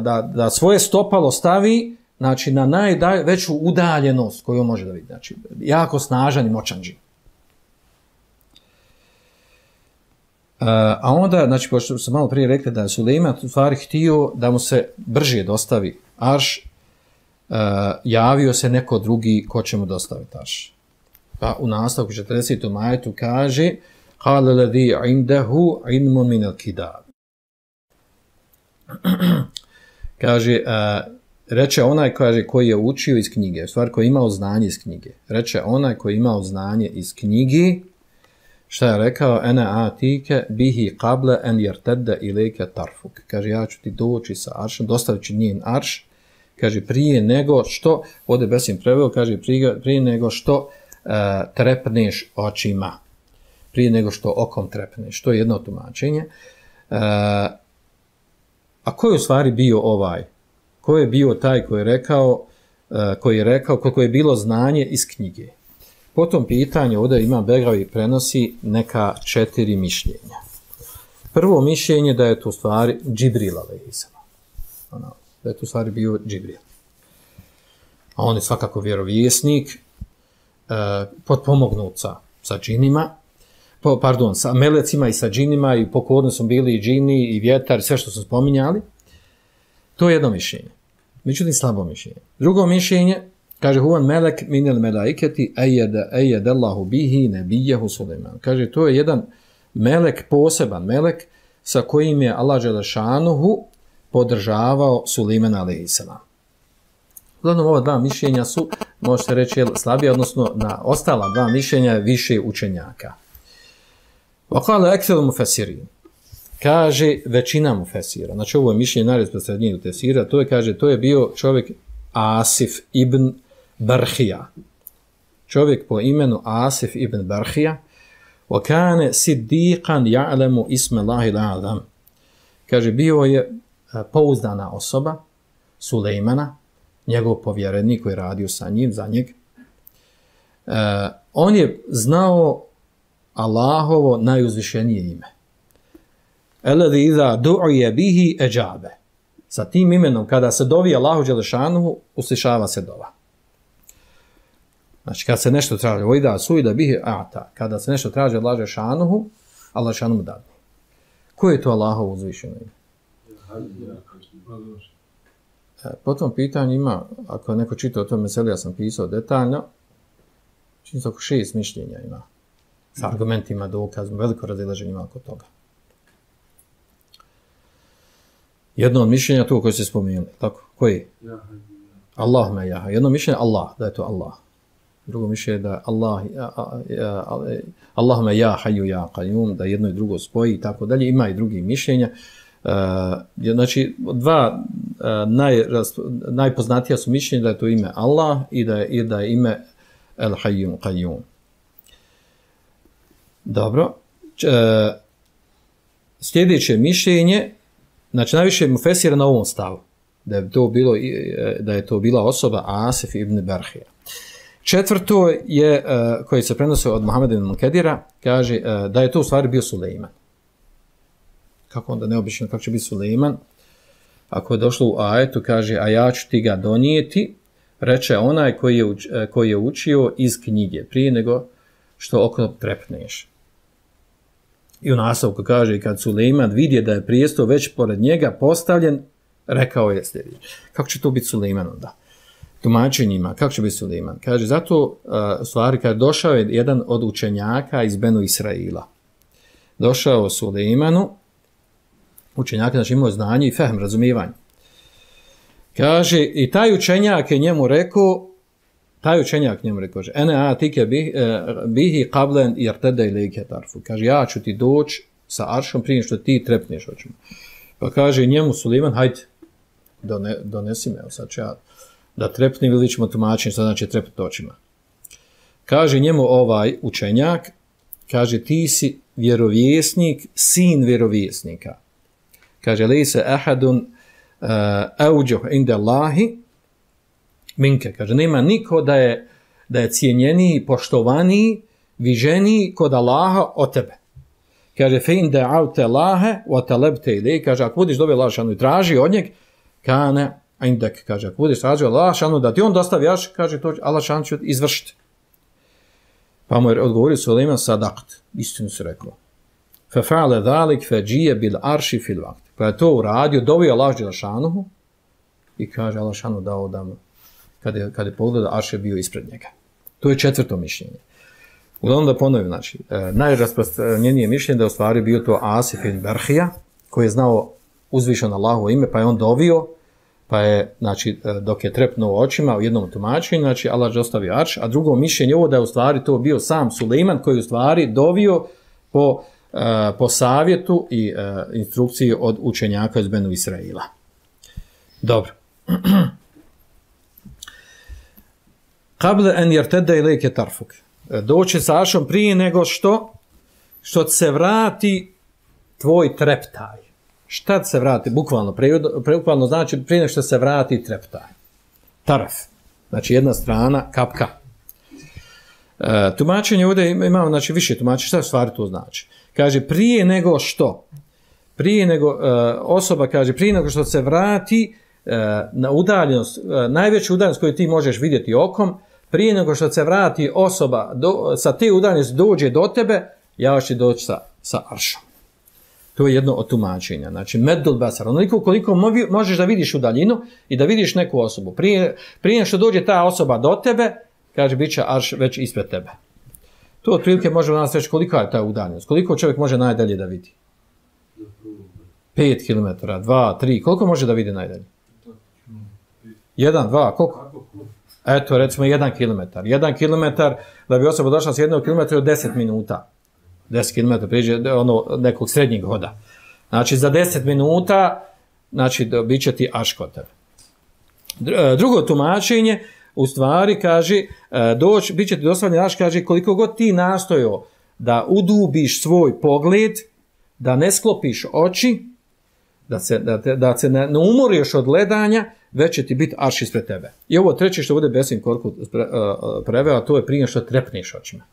da, da svoje stopalo stavi, znači, na najveću udaljenost koju može da vidi. Znači, jako snažan i moćan džin. Uh, a onda, znači, pošto sam malo prije rekli da je Sulejman u stvari htio da mu se brže dostavi arš, uh, javio se neko drugi ko će mu dostaviti arš. Pa u nastavku četrdesetom ajetu kaže قَالَ الَّذِي عِنْدَهُ عِلْمٌ مِنَ الْكِتَابِ. Kaže, uh, reče onaj, kaže, koji je učio iz knjige, u stvari koji je imao znanje iz knjige. Reče onaj koji je imao znanje iz knjige, šta je rekao, ena atike bihi qable en jertedde ilike tarfuk. Kaže, ja ću ti doći sa aršom, dostavit ću njen arš, kaže, prije nego što, ovdje Besim preveo, kaže, prije, prije nego što uh, trepneš očima. Prije nego što okom trepneš. To je jedno tumačenje. Uh, a ko je u stvari bio ovaj? Ko je bio taj koji je rekao, uh, koji je rekao, koliko je bilo znanje iz knjige? Po tom pitanju ovdje Imam Begavi prenosi neka četiri mišljenja. Prvo mišljenje da je to u stvari Džibril alejhiselam. Ono, da je to u stvari bio Džibril. A on je svakako vjerovjesnik, uh, potpomognut sa, sa džinima, po, pardon, sa melecima i sa džinima, i pokorni su bili i džini i vjetar, sve što su spominjali. To je jedno mišljenje. Međutim, slabo mišljenje. Drugo mišljenje, kaže, huvan melek minel melaiketi ejed Allahu bihi nebijehu Sulejman. Kaže, to je jedan melek, poseban melek, sa kojim je Allah Đelešanuhu podržavao Sulejmana alejhiselam. Uglavnom, ova dva mišljenja su, možete reći, slabije, odnosno na ostala dva mišljenja je više učenjaka. Vakale ekthel mufesirin. Kaže, većina mufesira. Znači, ovo je mišljenje najrasprostranjenije u tefsira. To je, kaže, to je bio čovjek Asif ibn Barhija. Čovjek po imenu Asif ibn Barhija. وَكَانَ صِدِّيقًا يَعْلَمُ اسْمَ اللَّهِ الْأَعْظَمِ. Kaže, bio je pouzdana osoba, Sulejmana, njegov povjerenik koji je radio sa njim, za njeg. Uh, on je znao Allahovo najuzvišenije ime. Eladi iza du'uje bihi eđabe. Sa tim imenom, kada se dovi Allahu Đelešanuhu, uslišava se dova. Znači, kada se nešto traži, ojda suida bihi a'ta, kada se nešto traži od Allahu Đelešanuhu, Allah Đelešanuhu dadne. Ko je to Allahovo uzvišeno ime? Po tom pitanju ima, ako neko čita o tom meseli, ja sam pisao detaljno, čini se oko šest mišljenja ima, s argumentima, dokazom, veliko razilaženje ima oko toga. Jedno od mišljenja to koje se spomenuli, tako, koji? Allahumma jaha. Jedno mišljenje Allah, da je to Allah. Drugo mišljenje da Allah, Allahumma ja hayyu ja qayyum, da jedno i drugo spoji i tako dalje. Ima i drugi mišljenja. Uh, znači, dva uh, naj, najpoznatija su mišljenja da je to ime Allah i da je, i da je ime El Hayyum Qayyum. Dobro. Č, uh, sljedeće mišljenje, znači najviše mufesira na ovom stavu, da je to, bilo, da je to bila osoba Asif ibn Barhija. Četvrto je, uh, koji se prenosio od Muhameda ibn Munkedira, kaže uh, da je to u stvari bio Sulejman. Kako onda neobično, kako će biti Sulejman? Ako je došlo u ajetu, kaže, a ja ću ti ga donijeti, reče onaj koji je, uč, koji je učio iz knjige, prije nego što oko trepneš. I u nastavku kaže, kad Sulejman vidje da je prijestol već pored njega postavljen, rekao je sljedeće. Kako će to biti Sulejman onda? Tumačenjima, kako će biti Sulejman? Kaže, zato, uh, stvari, kad došao je jedan od učenjaka iz Benu Israila. Došao Sulejmanu, učenjak, znači imao znanje i fehm, razumijevanje. Kaže, i taj učenjak je njemu rekao, taj učenjak njemu rekao, ene atike bihi qablen irtede ilike tarfu. Kaže, ja ću ti doći sa aršom prije što ti trepneš očima. Pa kaže njemu Sulejman, hajde, done, donesi me, sad ću ja da trepnim, ili ćemo tumačiti, sad znači trepiti očima. Kaže njemu ovaj učenjak, kaže, ti si vjerovjesnik, sin vjerovjesnika. Kaže, lejse ahadun auđuh uh, inda Allahi minke. Kaže, nema niko da je, da je cijenjeniji, poštovaniji, viženiji kod Allaha od tebe. Kaže, fe in da'avte Allahe wa talabte ilej. Kaže, ako budiš dobio Allah šanu i traži od njeg, kane indek. Kaže, ako budiš traži Allah šanu da ti on dostavi, jaš, kaže, to Allah šanu će izvršiti. Pa mu je odgovorio Sulejman, sadakt. Istinu se rekao. Fe fa'ale dhalik fe džije bil arši fil vakt. Pa je to uradio, dovio Allah Đelešanuhu i kaže Allah Đelešanuhu dao da mu, kad je, kad je pogledao, Arš je bio ispred njega. To je četvrto mišljenje. Uglavnom da ponovim, znači, e, najrasprostranjenije mišljenje da je u stvari bio to Asif ibn Barhija, koji je znao uzvišeno Allahovo ime, pa je on dovio, pa je, znači, dok je trepnuo očima u jednom tumačenju, znači Allah je ostavio Arš, a drugo mišljenje ovo da je u stvari to bio sam Sulejman koji je u stvari dovio po Uh, po savjetu i uh, instrukciji od učenjaka iz Benu Israila. Dobro. Qable en jertede ilike tarfuk. Doći sa Aršom prije nego što što se vrati tvoj treptaj. Šta se vrati? Bukvalno, bukvalno znači prije nego što se vrati treptaj. Taraf. Znači jedna strana, kapka. Uh, tumačenje ovdje imamo, znači više tumačenja. Šta stvari to znači? Kaže, prije nego što, prije nego, uh, osoba kaže, prije nego što se vrati uh, na udaljenost, uh, najveću udaljenost koju ti možeš vidjeti okom, prije nego što se vrati osoba do, sa te udaljenosti dođe do tebe, ja ću doći sa, sa Aršom. To je jedno od tumačenja. Znači, meddul basar, onoliko koliko možeš da vidiš u daljinu i da vidiš neku osobu. Prije, prije što dođe ta osoba do tebe, kaže, bit će Arš već ispred tebe. To otprilike može u nas reći kolika je ta udaljenost. Koliko čovjek može najdalje da vidi? Pet kilometara, dva, tri. Koliko može da vidi najdalje? Jedan, dva, koliko? Eto, recimo jedan kilometar. Jedan kilometar, da bi osoba došla s jednog kilometra od deset minuta. Deset kilometara priđe ono, nekog srednjeg hoda. Znači, za deset minuta, znači, bit će ti Arš kod tebe. Drugo tumačenje, u stvari, kaže, doći, bit će ti dostavljen Arš, kaže, koliko god ti nastojao da udubiš svoj pogled, da ne sklopiš oči, da se, da te, da se ne, ne umoriš od gledanja, već će ti biti arš ispred tebe. I ovo treće što bude Besim Korkut pre, uh, preveo, to je prije što trepneš očima.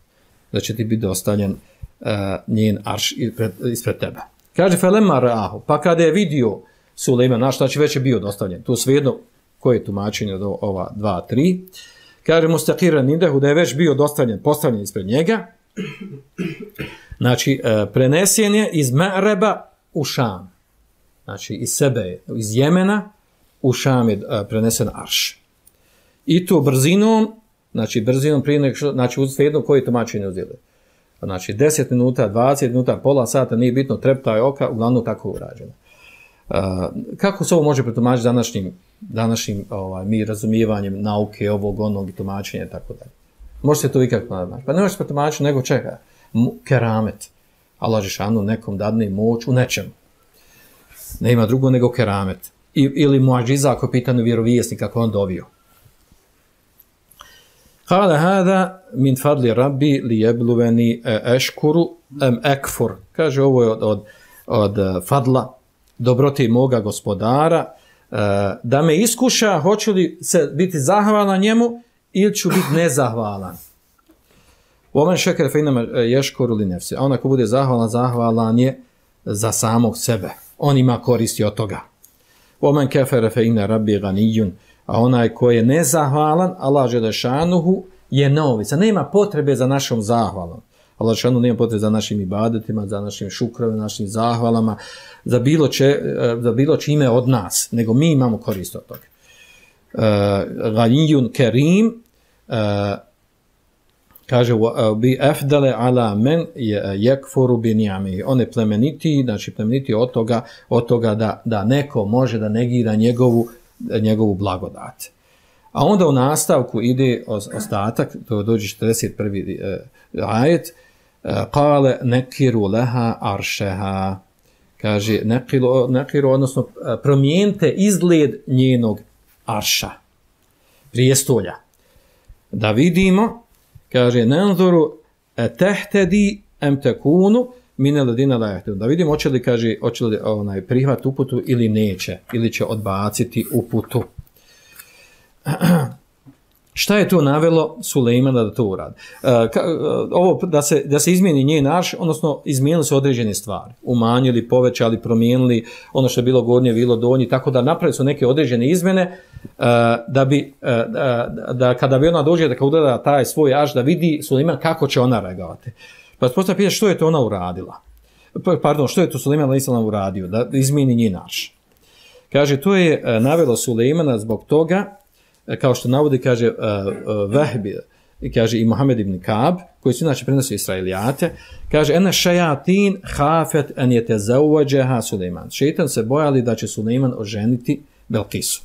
Da će ti biti dostavljen uh, njen arš ispred, ispred tebe. Kaže Felema Rahu, pa kada je vidio Sulejman, naš znači već je bio dostavljen. Tu svejedno koje je tumačenje do ova dva, tri. Kaže Mustaqiran Indehu da je već bio dostavljen, postavljen ispred njega. Znači, uh, prenesen je iz Ma'reba u Šam. Znači, iz sebe, iz Jemena, u Šam je uh, prenesen arš. I to brzinom, znači brzinom prije nek što, znači uz jedno koje tumačenje uzeli. Znači deset minuta, dvadeset minuta, pola sata, nije bitno, treptaj oka, uglavnom tako urađeno. Uh, kako se ovo može pretumačiti današnjim, današnjim ovaj, mi razumijevanjem nauke, ovog, onog i tumačenja i tako dalje. Može se to ikako naći. Pa ne može se pretumačiti nego čega? Keramet. Allah Žešanu nekom dadne moć u nečemu. Ne ima drugo nego keramet. I, ili muadžiza ako je pitanje vjerovijesnik kako on dovio. Kale hada min fadli rabbi li jebluveni eškuru em ekfur. Kaže ovo je od, od, od fadla dobroti moga gospodara da me iskuša hoću li se biti zahvalan njemu ili ću biti nezahvalan. Omen šeker fejnama ješkuru li nefsi. A on ako bude zahvalan, zahvalan je za samog sebe. On ima koristi od toga. Omen kefere fe inna rabbi ganijun, a onaj ko je nezahvalan, Allah Želešanuhu je neovisan. Nema potrebe za našom zahvalom. Allah Želešanuhu nema potrebe za našim ibadetima, za našim šukrovima, našim zahvalama, za bilo, če, za bilo čime od nas, nego mi imamo korist od toga. Uh, ganijun kerim, uh, kaže bi afdale ala men yakfuru bi ni'amihi. On je plemeniti, znači plemeniti od toga, od toga da, da neko može da negira njegovu, njegovu blagodat. A onda u nastavku ide ostatak, to dođe četrdeset prvi ajet, kale nekiru leha aršeha. Kaže nekiru, nekiru, odnosno promijenite izgled njenog arša, prijestolja. Da vidimo, kaže nanzuru tehtedi em tekunu mine ledina lajehtu. Da vidimo hoće li, kaže, hoće li onaj prihvat uputu ili neće, ili će odbaciti uputu. Šta je to navelo Sulejmana da to uradi? Uh, ka, uh, ovo da se, da se izmijeni njen arš, odnosno izmijenili se određene stvari. Umanjili, povećali, promijenili ono što je bilo gornje, bilo donje, tako da napravili su neke određene izmjene uh, da bi, uh, da, da kada bi ona dođe da kada ugleda taj svoj arš, da vidi Sulejman kako će ona reagovati. Pa se postavlja pitanje što je to ona uradila. Pardon, što je to Sulejman alejhi selam uradio? Da izmijeni njen arš. Kaže, to je uh, navelo Sulejmana zbog toga, kao što navodi, kaže uh, uh, Vehbi, kaže i Muhammed ibn Kab, koji su inače prenosi Israilijate, kaže ena šajatin hafet en je te zauvađeha Sulejman. Šeitan se bojali da će Sulejman oženiti Belkisu.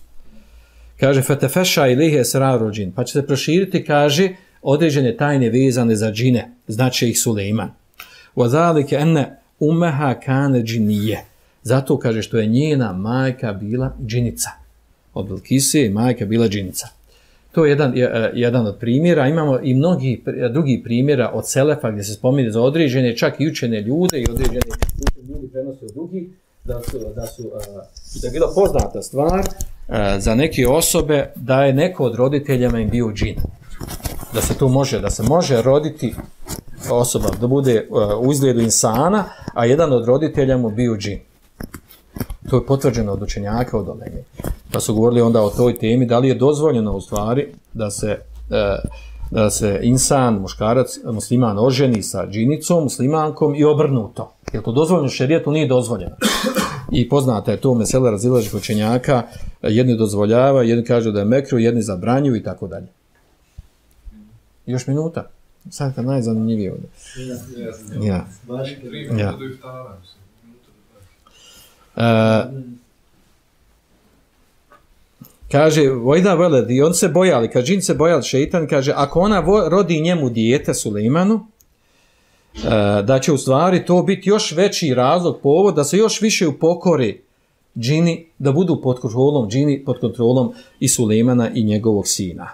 Kaže fetefeša ilihe esraru džin, pa će se proširiti, kaže, određene tajne vezane za džine, znači ih Sulejman. Wazalike ene umeha kane džinije. Zato, kaže, što je njena majka bila džinica. Od Belkise i majka bila džinica. To je jedan, jedan od primjera. Imamo i mnogi drugi primjera od Selefa gdje se spominje za određene, čak i učene ljude i određene učene ljudi prenose od drugih, da su, da su da je bila poznata stvar za neke osobe da je neko od roditeljama im bio džin. Da se to može, da se može roditi osoba, da bude u izgledu insana, a jedan od roditelja mu bio džin. To je potvrđeno od učenjaka od Olege. Pa su govorili onda o toj temi, da li je dozvoljeno u stvari da se, da se insan, muškarac, musliman oženi sa džinicom, muslimankom i obrnuto. Je to dozvoljeno? Šerijetu nije dozvoljeno. I poznata je to mesela razilaženih učenjaka, jedni dozvoljava, jedni kažu da je mekru, jedni zabranjuju i tako dalje. Još minuta. Sad kad najzanimljivije ovdje. Ja. Ja. Uh, kaže vojda veled i on se bojali, kaže džin se bojali, šeitan kaže ako ona vo, rodi njemu dijete Sulejmanu, uh, da će u stvari to biti još veći razlog, povod da se još više upokori džini, da budu pod kontrolom džini, pod kontrolom i Sulejmana i njegovog sina.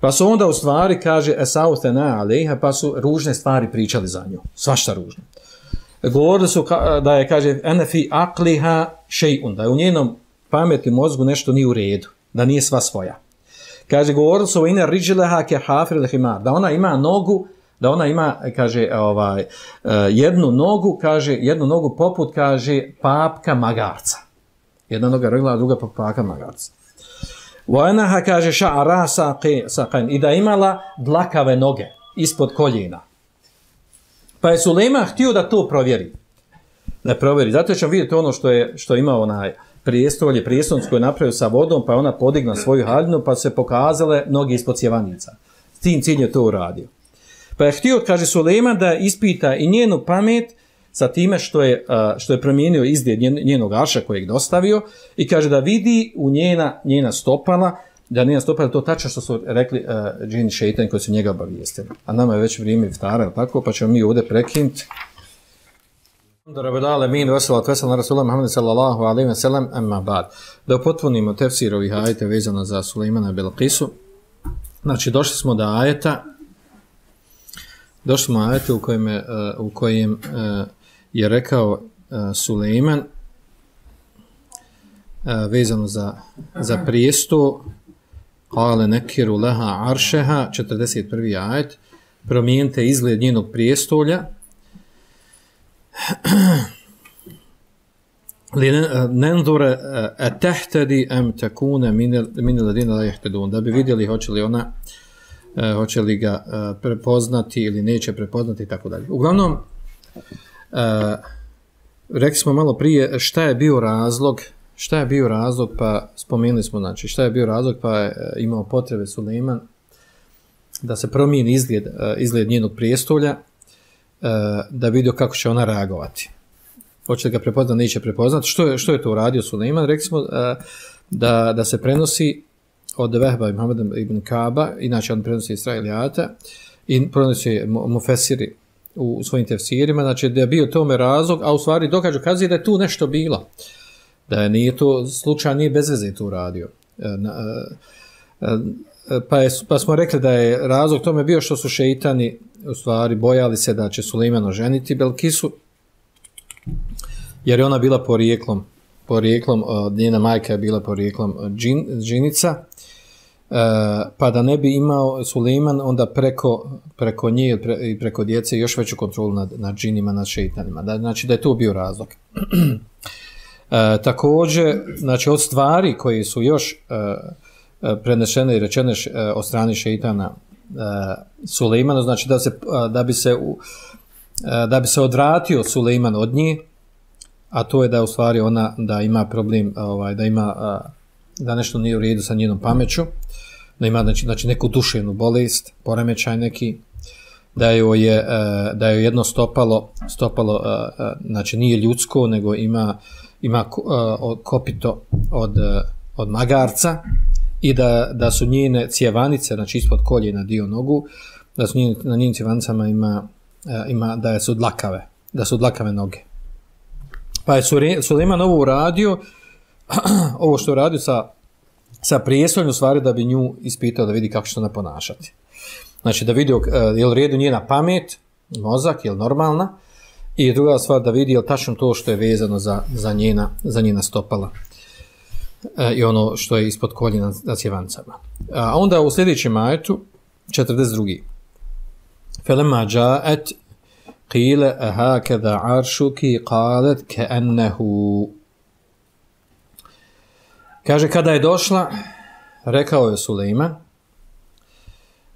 Pa su onda u stvari, kaže, esautena alejha, pa su ružne stvari pričali za nju. Svašta ružno. Govorili su da je, kaže, ene fi akliha šejun, da je u njenom pameti mozgu nešto nije u redu, da nije sva svoja. Kaže, govorili su o ine riđileha ke hafir lehimar, da ona ima nogu, da ona ima, kaže, ovaj, jednu nogu, kaže, jednu nogu poput, kaže, papka magarca. Jedna noga regla, a druga poput papka magarca. Vojnaha, kaže, ša'ara saqain, i da imala dlakave noge ispod koljena. Pa je Sulejman htio da to provjeri. Da provjeri. Zato ćemo vidjeti ono što je, što je imao onaj prijestolje, prijestolnicu koju je napravio sa vodom, pa je ona podigla svoju haljinu, pa se pokazale noge ispod cjevanica. S tim ciljem je to uradio. Pa je htio, kaže Sulejman, da ispita i njenu pamet sa time što je, što je promijenio izgled njenog arša kojeg dostavio i kaže da vidi u njena, njena stopala, da njena stopala to tačno što su rekli uh, džini šeitan koji su njega obavijestili. A nama je već vrijeme iftara, tako, pa ćemo mi ovdje prekinuti. Da upotpunimo tefsir ovih ajeta vezano za Sulejmana i Belkisu. Znači, došli smo do ajeta došli smo do ajeta u kojem, uh, u kojem uh, je rekao uh, Sulejman uh, vezano za, za prijesto kale nekiru leha aršeha, četrdeset prvi ajet, promijenite izgled njenog prijestolja, nenzure etehtedi em tekune mini ladina la jehtedun, da bi vidjeli hoće li ona hoće li ga prepoznati ili neće prepoznati i tako dalje. Uglavnom, rekli smo malo prije šta je bio razlog, šta je bio razlog, pa spomenuli smo, znači, šta je bio razlog, pa je imao potrebe Sulejman da se promijeni izgled, izgled njenog prijestolja, da vidio kako će ona reagovati. Hoće li ga prepoznati, neće prepoznati. Što je, što je to uradio Sulejman? Rekli smo da, da se prenosi od Vehba i Muhammed ibn Kaba, inače on prenosi Israilijata, i prenosi Mufesiri u svojim tefsirima, znači da je bio tome razlog, a u stvari dokažu kazuje da je tu nešto bilo. Da je nije to slučaj, nije bez veze to uradio. Pa, je, pa smo rekli da je razlog tome bio što su šeitani u stvari bojali se da će Sulejman oženiti Belkisu, jer je ona bila porijeklom, porijeklom njena majka je bila porijeklom džin, džinica, pa da ne bi imao Sulejman onda preko, preko nje i preko djece još veću kontrolu nad, nad džinima, nad šeitanima. Da, znači da je to bio razlog. E, također, znači od stvari koje su još e, prenešene i rečene š, e, od strane šeitana e, Sulejmana, znači da, se, da, bi se, u, e, da bi se odvratio Sulejman od nje, a to je da u stvari ona da ima problem, ovaj, da ima da nešto nije u redu sa njenom pameću, da ima znači, znači neku duševnu bolest, poremećaj neki, da joj je da joj jedno stopalo, stopalo znači nije ljudsko, nego ima ima kopito od od magarca i da da su njene cjevanice, znači ispod koljena dio nogu, da su njene, na njenim cjevanicama ima ima da su dlakave, da su dlakave noge. Pa je Sulejman ovo uradio, ovo što uradio sa, sa prijestoljem, u stvari da bi nju ispitao da vidi kako će ona ponašati. Znači da vidi je li redu njena pamet, mozak, je li normalna, i druga stvar da vidi je li tačno to što je vezano za, za, njena, za njena stopala e, i ono što je ispod koljena na cjevancama. A onda u sljedećem ajetu, četrdeset drugi. Felema džaet qila ahakada arshuki qalat ka'annahu. Kaže kada je došla, rekao je Sulejman,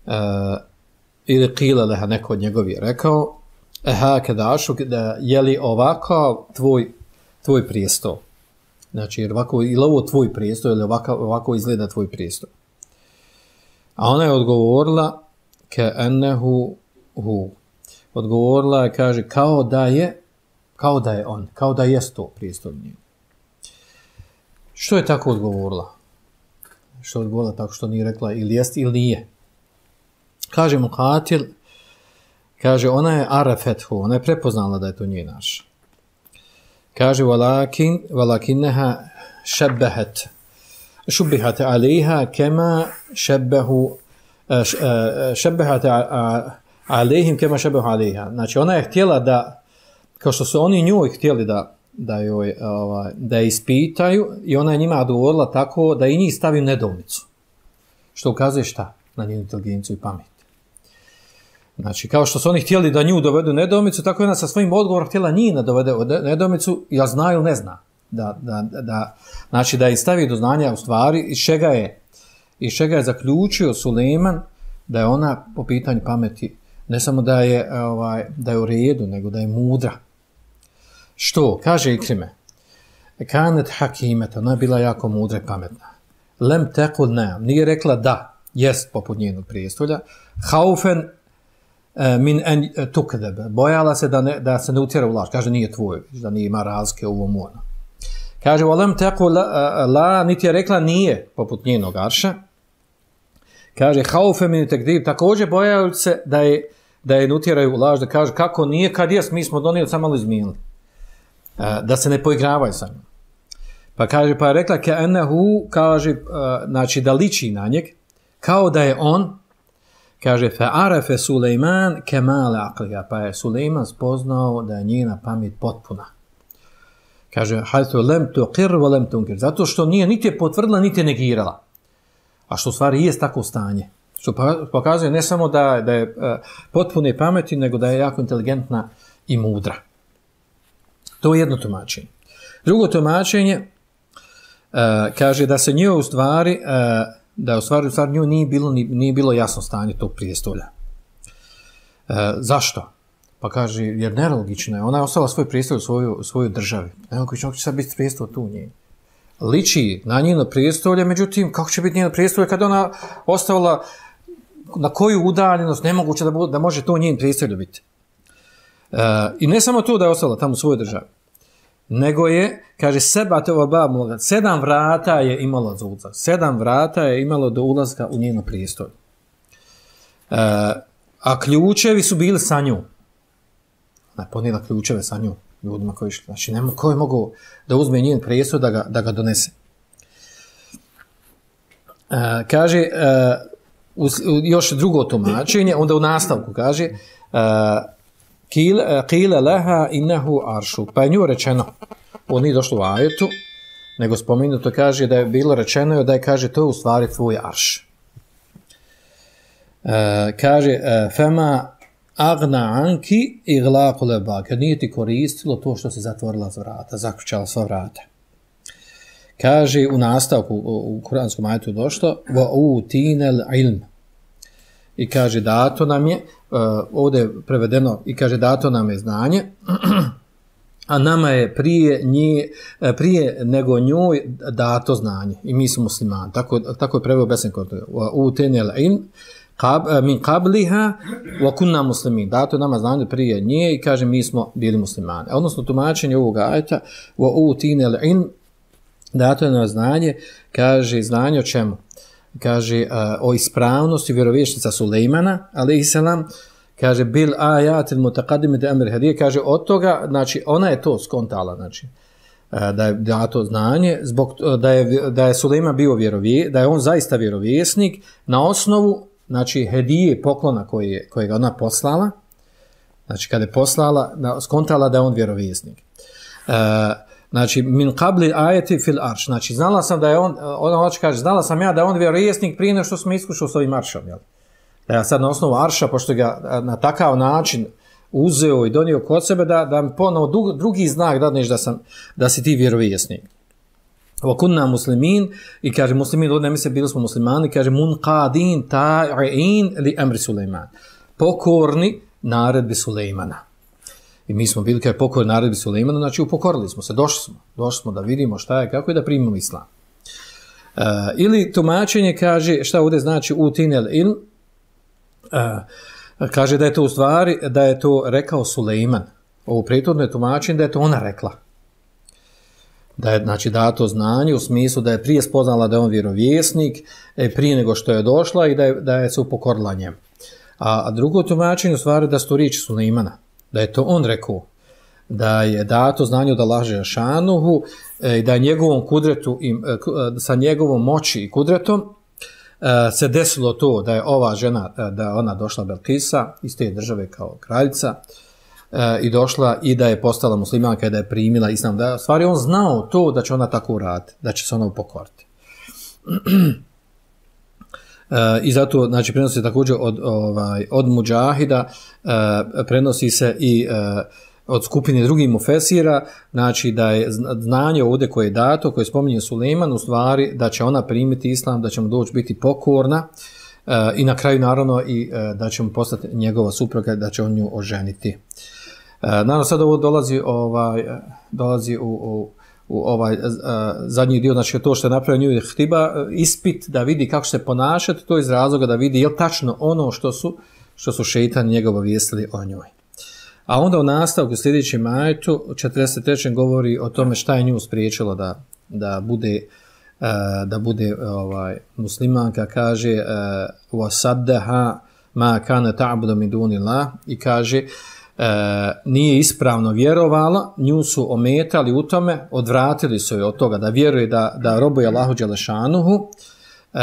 uh, ili qila leha, neko od njegovi je rekao, ahakada arshuk, da je li ovako tvoj tvoj prijestol. Znači jer ovako ili ovo tvoj prijestol ili ovako ovako izgleda tvoj prijestol. A ona je odgovorila ka'annahu hu. Odgovorila je, kaže, kao da je, kao da je on, kao da jest to prijestolje. Što je tako odgovorila? Što je odgovorila tako što nije rekla ili jest ili nije? Kaže mu Katil, kaže, ona je arafethu, ona je prepoznala da je to njen naš. Kaže, walakin, walakinneha šebbehet, šubbihat alejha kema šebbehu šebehat alehim kema šebehu aleha. Znači ona je htjela da, kao što su oni njoj htjeli da, da, joj, ovaj, da je ispitaju i ona je njima odgovorila tako da i njih stavi u nedoumicu. Što ukazuje šta? Na njenu inteligenciju i pamet. Znači, kao što su oni htjeli da nju dovedu u nedoumicu, tako je ona sa svojim odgovorom htjela njih da dovede u nedoumicu, ja zna ili ne zna. Da, da, da, znači, da je stavi do znanja u stvari iz čega je, iz čega je zaključio Sulejman da je ona po pitanju pameti ne samo da je, ovaj, da je u redu, nego da je mudra. Što? Kaže Ikrime. Kanet hakimeta, ona je bila jako mudra i pametna. Lem tekul ne, nije rekla da, jest poput njenog prijestolja. Haufen min en tukdebe, bojala se da, ne, da se ne utjera u laž. Kaže, nije tvoj, da nije ima razlike u ovom ono. Kaže, lem tekul la, la, niti je rekla nije poput njenog arša. Kaže, haufen min tekdib, također bojala se da je, da je ne utjeraju u laž, da kaže, kako nije, kad jes, mi smo donijeli, samo malo izmijenili. Da se ne poigravaju sa njom. Pa kaže, pa je rekla ke enehu, kaže, uh, znači da liči na njeg, kao da je on, kaže, fe arefe Sulejman kemale akliga, pa je Sulejman spoznao da je njena pamet potpuna. Kaže, hajtu lem tuqir wa lem tunkir, zato što nije niti je potvrdila, niti je negirala. A što u stvari jest tako stanje. Što pokazuje ne samo da, da je uh, potpune pameti, nego da je jako inteligentna i mudra. To je jedno tumačenje. Drugo tumačenje, uh, kaže da se njoj u stvari, uh, da u stvari, u stvari njoj nije bilo, nije bilo jasno stanje tog prijestolja. Uh, zašto? Pa kaže, jer nelogično je, ona je ostala svoj prijestolj u svoju, svoju državi. Nemoguće će sad biti prijestolj tu njej. Liči na njeno prijestolje, međutim, kako će biti njeno prijestolje kada ona ostavila, na koju udaljenost, nemoguće da, bu, da može to njen prijestolje biti. Uh, I ne samo to da je ostala tamo u svojoj državi, nego je, kaže, seba tova baba, sedam vrata je imalo za ulazak. Sedam vrata je imalo do ulazka u njeno prijestolje. Uh, a ključevi su bili sa njom. Ona je ponijela ključeve sa njom, ljudima koji išli. Znači, nema ko je mogao da uzme njen prijestolj da ga, da ga donese. Uh, kaže, uh, u, u, još drugo tumačenje, onda u nastavku kaže, uh, Kile leha innehu aršu. Pa je nju rečeno, ovo nije došlo u ajetu, nego spomenuto kaže da je bilo rečeno da je, kaže, to je u stvari tvoj arš. E, kaže, e, fema agna anki iglaku leba, kad nije ti koristilo to što se zatvorila z vrata, zaključala sva vrata. Kaže u nastavku, u, u kuranskom ajetu je došlo, va u tinel ilm. I kaže, dato nam je, uh, ovdje je prevedeno, i kaže, dato nam je znanje, a nama je prije, nje, prije nego njoj dato znanje. I mi smo muslimani. Tako, tako je preveo Besen Kortog. U tenel in, kab, min kabliha, wa kunna muslimin. Dato nama znanje prije nje i kaže, mi smo bili muslimani. Odnosno, tumačenje ovog ajeta, u tenel in, dato nam znanje, kaže, znanje o čemu? Kaže uh, o ispravnosti vjerovješnica Sulejmana, alejselam, kaže bil ayatil mutaqaddimati amr hadije, kaže od toga, znači ona je to skontala, znači uh, da je dato znanje zbog uh, da je da je Sulejman bio vjerovjesnik, da je on zaista vjerovjesnik na osnovu, znači hedije, poklona koje koje ga ona poslala. Znači kada je poslala, da, skontala da je on vjerovjesnik. Uh, Znači, min qabli ajeti fil arš. Znači, znala sam da je on, ona hoće kaže, znala sam ja da je on vjerovjesnik prije nego što smo iskušali s ovim aršom. Jel? Da ja sad na osnovu arša, pošto ga na takav način uzeo i donio kod sebe, da, da mi ponovo drugi znak dadneš da, sam, da si ti vjerovjesnik. Wa kunna muslimin, i kaže muslimin, ovdje ne misle, bili smo muslimani, kaže munqadin ta'in li amri Sulejman. Pokorni naredbi Sulejmana. I mi smo bili kao pokorni naredbi Sulejmana, znači upokorili smo se, došli smo, došli smo da vidimo šta je, kako je da primimo islam. Uh, ili tumačenje kaže, šta ovdje znači utinel il, uh, kaže da je to u stvari, da je to rekao Sulejman. Ovo prethodno je tumačenje da je to ona rekla. Da je, znači, dato znanje u smislu da je prije spoznala da je on vjerovjesnik, prije nego što je došla i da je, da je se upokorila njemu. A, a drugo tumačenje u stvari da su to riječi Sulejmana. Da je to on rekao, da je dato znanje od Allaha šanuhu i da je njegovom kudretu i sa njegovom moći i kudretom se desilo to da je ova žena, da ona došla Belkisa iz te države kao kraljica i došla i da je postala muslimanka i da je primila islam. Da, stvari on znao to da će ona tako uraditi, da će se ona upokoriti. I zato, znači, prenosi se također od, ovaj, od muđahida, prenosi se i od skupine drugih mufesira, znači da je znanje ovdje koje je dato, koje spominje Sulejman, u stvari da će ona primiti islam, da će mu doći biti pokorna uh, i na kraju naravno i uh, da će mu postati njegova supruga, da će on nju oženiti. Uh, naravno sad ovo dolazi, ovaj, dolazi u, u, u ovaj uh, zadnji dio, znači to što je napravio nju htiba, uh, ispit da vidi kako se ponašati, to iz razloga da vidi je li tačno ono što su, što su šeitani njega obavijestili o njoj. A onda u nastavku sljedećem ajetu četrdeset trećem govori o tome šta je nju spriječilo da, da bude, uh, da bude ovaj, muslimanka, kaže uh, wasaddaha ma kana ta'budu min dunillah i kaže uh, nije ispravno vjerovala, nju su ometali u tome, odvratili su je od toga da vjeruje da, da robuje Allahu dželešanuhu, uh,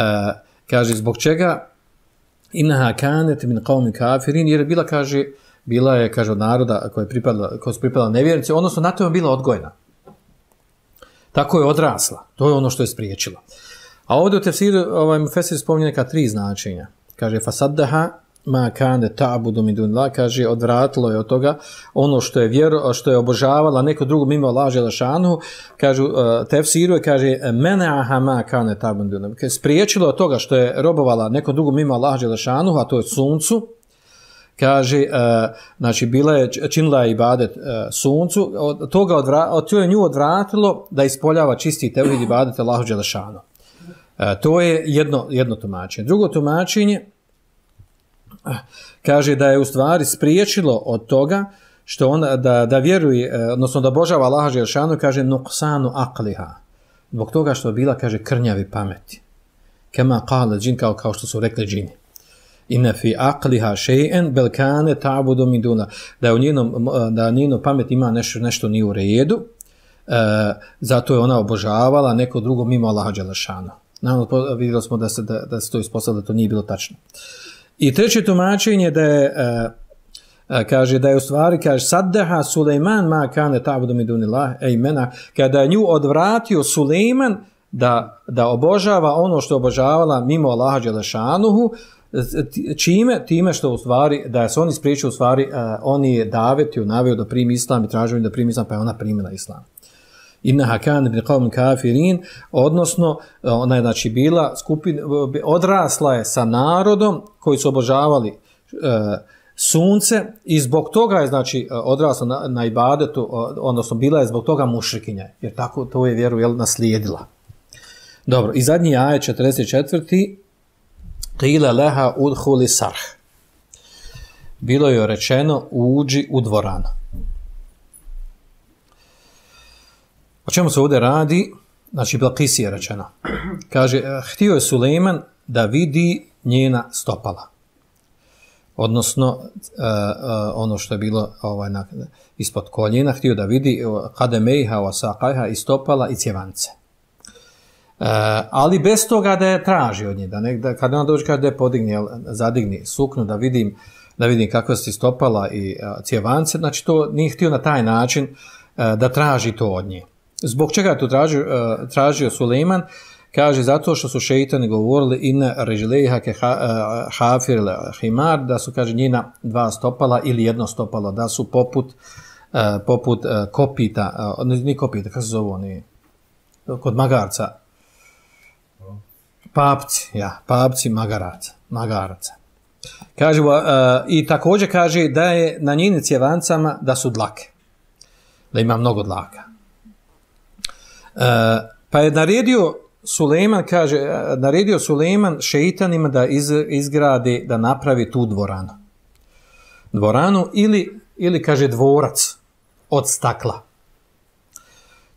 kaže zbog čega innaha kanet min qawmi kafirin, jer je bila, kaže, bila je, kaže, od naroda koja je pripadala, koja su pripadala nevjernici, odnosno na to je bila odgojena. Tako je odrasla. To je ono što je spriječilo. A ovdje u tefsiru ovaj mufesir spominje neka tri značenja. Kaže fasaddaha ma kane ta'budu min dunillah, kaže odvratilo je od toga ono što je vjero, što je obožavala neko drugo mimo Allaha dželešanu, kaže uh, tefsiru je, kaže mena'aha ma kane ta'budu min dunillah, kaže spriječilo od toga što je robovala neko drugo mimo Allaha dželešanu, a to je suncu. Kaže, uh, znači, bila je, činila je ibadet uh, suncu, od toga odvra, od to je nju odvratilo da ispoljava čisti tevhid ibadet Allahu dželešanu. Uh, to je jedno, jedno tumačenje. Drugo tumačenje, uh, kaže da je u stvari spriječilo od toga što ona, da, da vjeruje, uh, odnosno da obožava Allaha dželešanu, kaže, nuqsanu aqliha. Zbog toga što je bila, kaže, krnjavi pameti. Kema qala džin, kao, kao što su rekli džini. Inna fi aqliha shay'an bal kana ta'budu min duna, da u njenom da njeno pamet ima nešto nešto nije u redu, e, zato je ona obožavala neko drugo mimo Allaha dželešana. Naravno vidjeli smo da se da, da se to ispostavilo da to nije bilo tačno. I treće tumačenje da je e, e, kaže da je u stvari, kaže saddaha Sulejman ma kana ta'budu min dunillah, ejmena, kada je nju odvratio Sulejman da da obožava ono što je obožavala mimo Allaha dželešanuhu, čime, time što u stvari, da se oni spriječili u stvari, uh, oni je davetio, naveo da primi islam i tražio da primi islam, pa je ona primila islam. Innaha kan min qawmin kafirin, odnosno ona je, znači, bila skupina, odrasla je sa narodom koji su obožavali uh, sunce i zbog toga je, znači, odrasla na, na ibadetu, odnosno bila je zbog toga mušrikinja, jer tako to je vjeru, jel, naslijedila. Dobro, i zadnji ajet četrdeset četvrti Qila laha udhuli sarh. Bilo je rečeno uđi u dvoranu. O čemu se ovdje radi? Znači, Belkis je rečeno. Kaže, htio je Sulejman da vidi njena stopala. Odnosno, uh, uh, ono što je bilo ovaj, na, ispod koljena, htio da vidi kademejha wa saqajha i stopala i cjevance. Uh, ali bez toga da je traži od nje, da, ne, da kada ona dođe kada je podigni, zadigni suknu, da vidim, da vidim kakva se stopala i uh, cjevance, znači to nije htio na taj način uh, da traži to od nje. Zbog čega je to tražio, uh, tražio Sulejman? Kaže, zato što su šeitani govorili inna režlejha ke hafir himar, da su, kaže, njena dva stopala ili jedno stopalo, da su poput, uh, poput uh, kopita, uh, ni kopita, kako se zove oni, kod magarca, papci, ja, papci magaraca, magaraca. Kaže, uh, i također kaže da je na njenim cjevancama da su dlake, da ima mnogo dlaka. Uh, pa je naredio Sulejman, kaže, naredio Sulejman šeitanima da iz, izgradi, da napravi tu dvoranu. Dvoranu ili, ili, kaže, dvorac od stakla.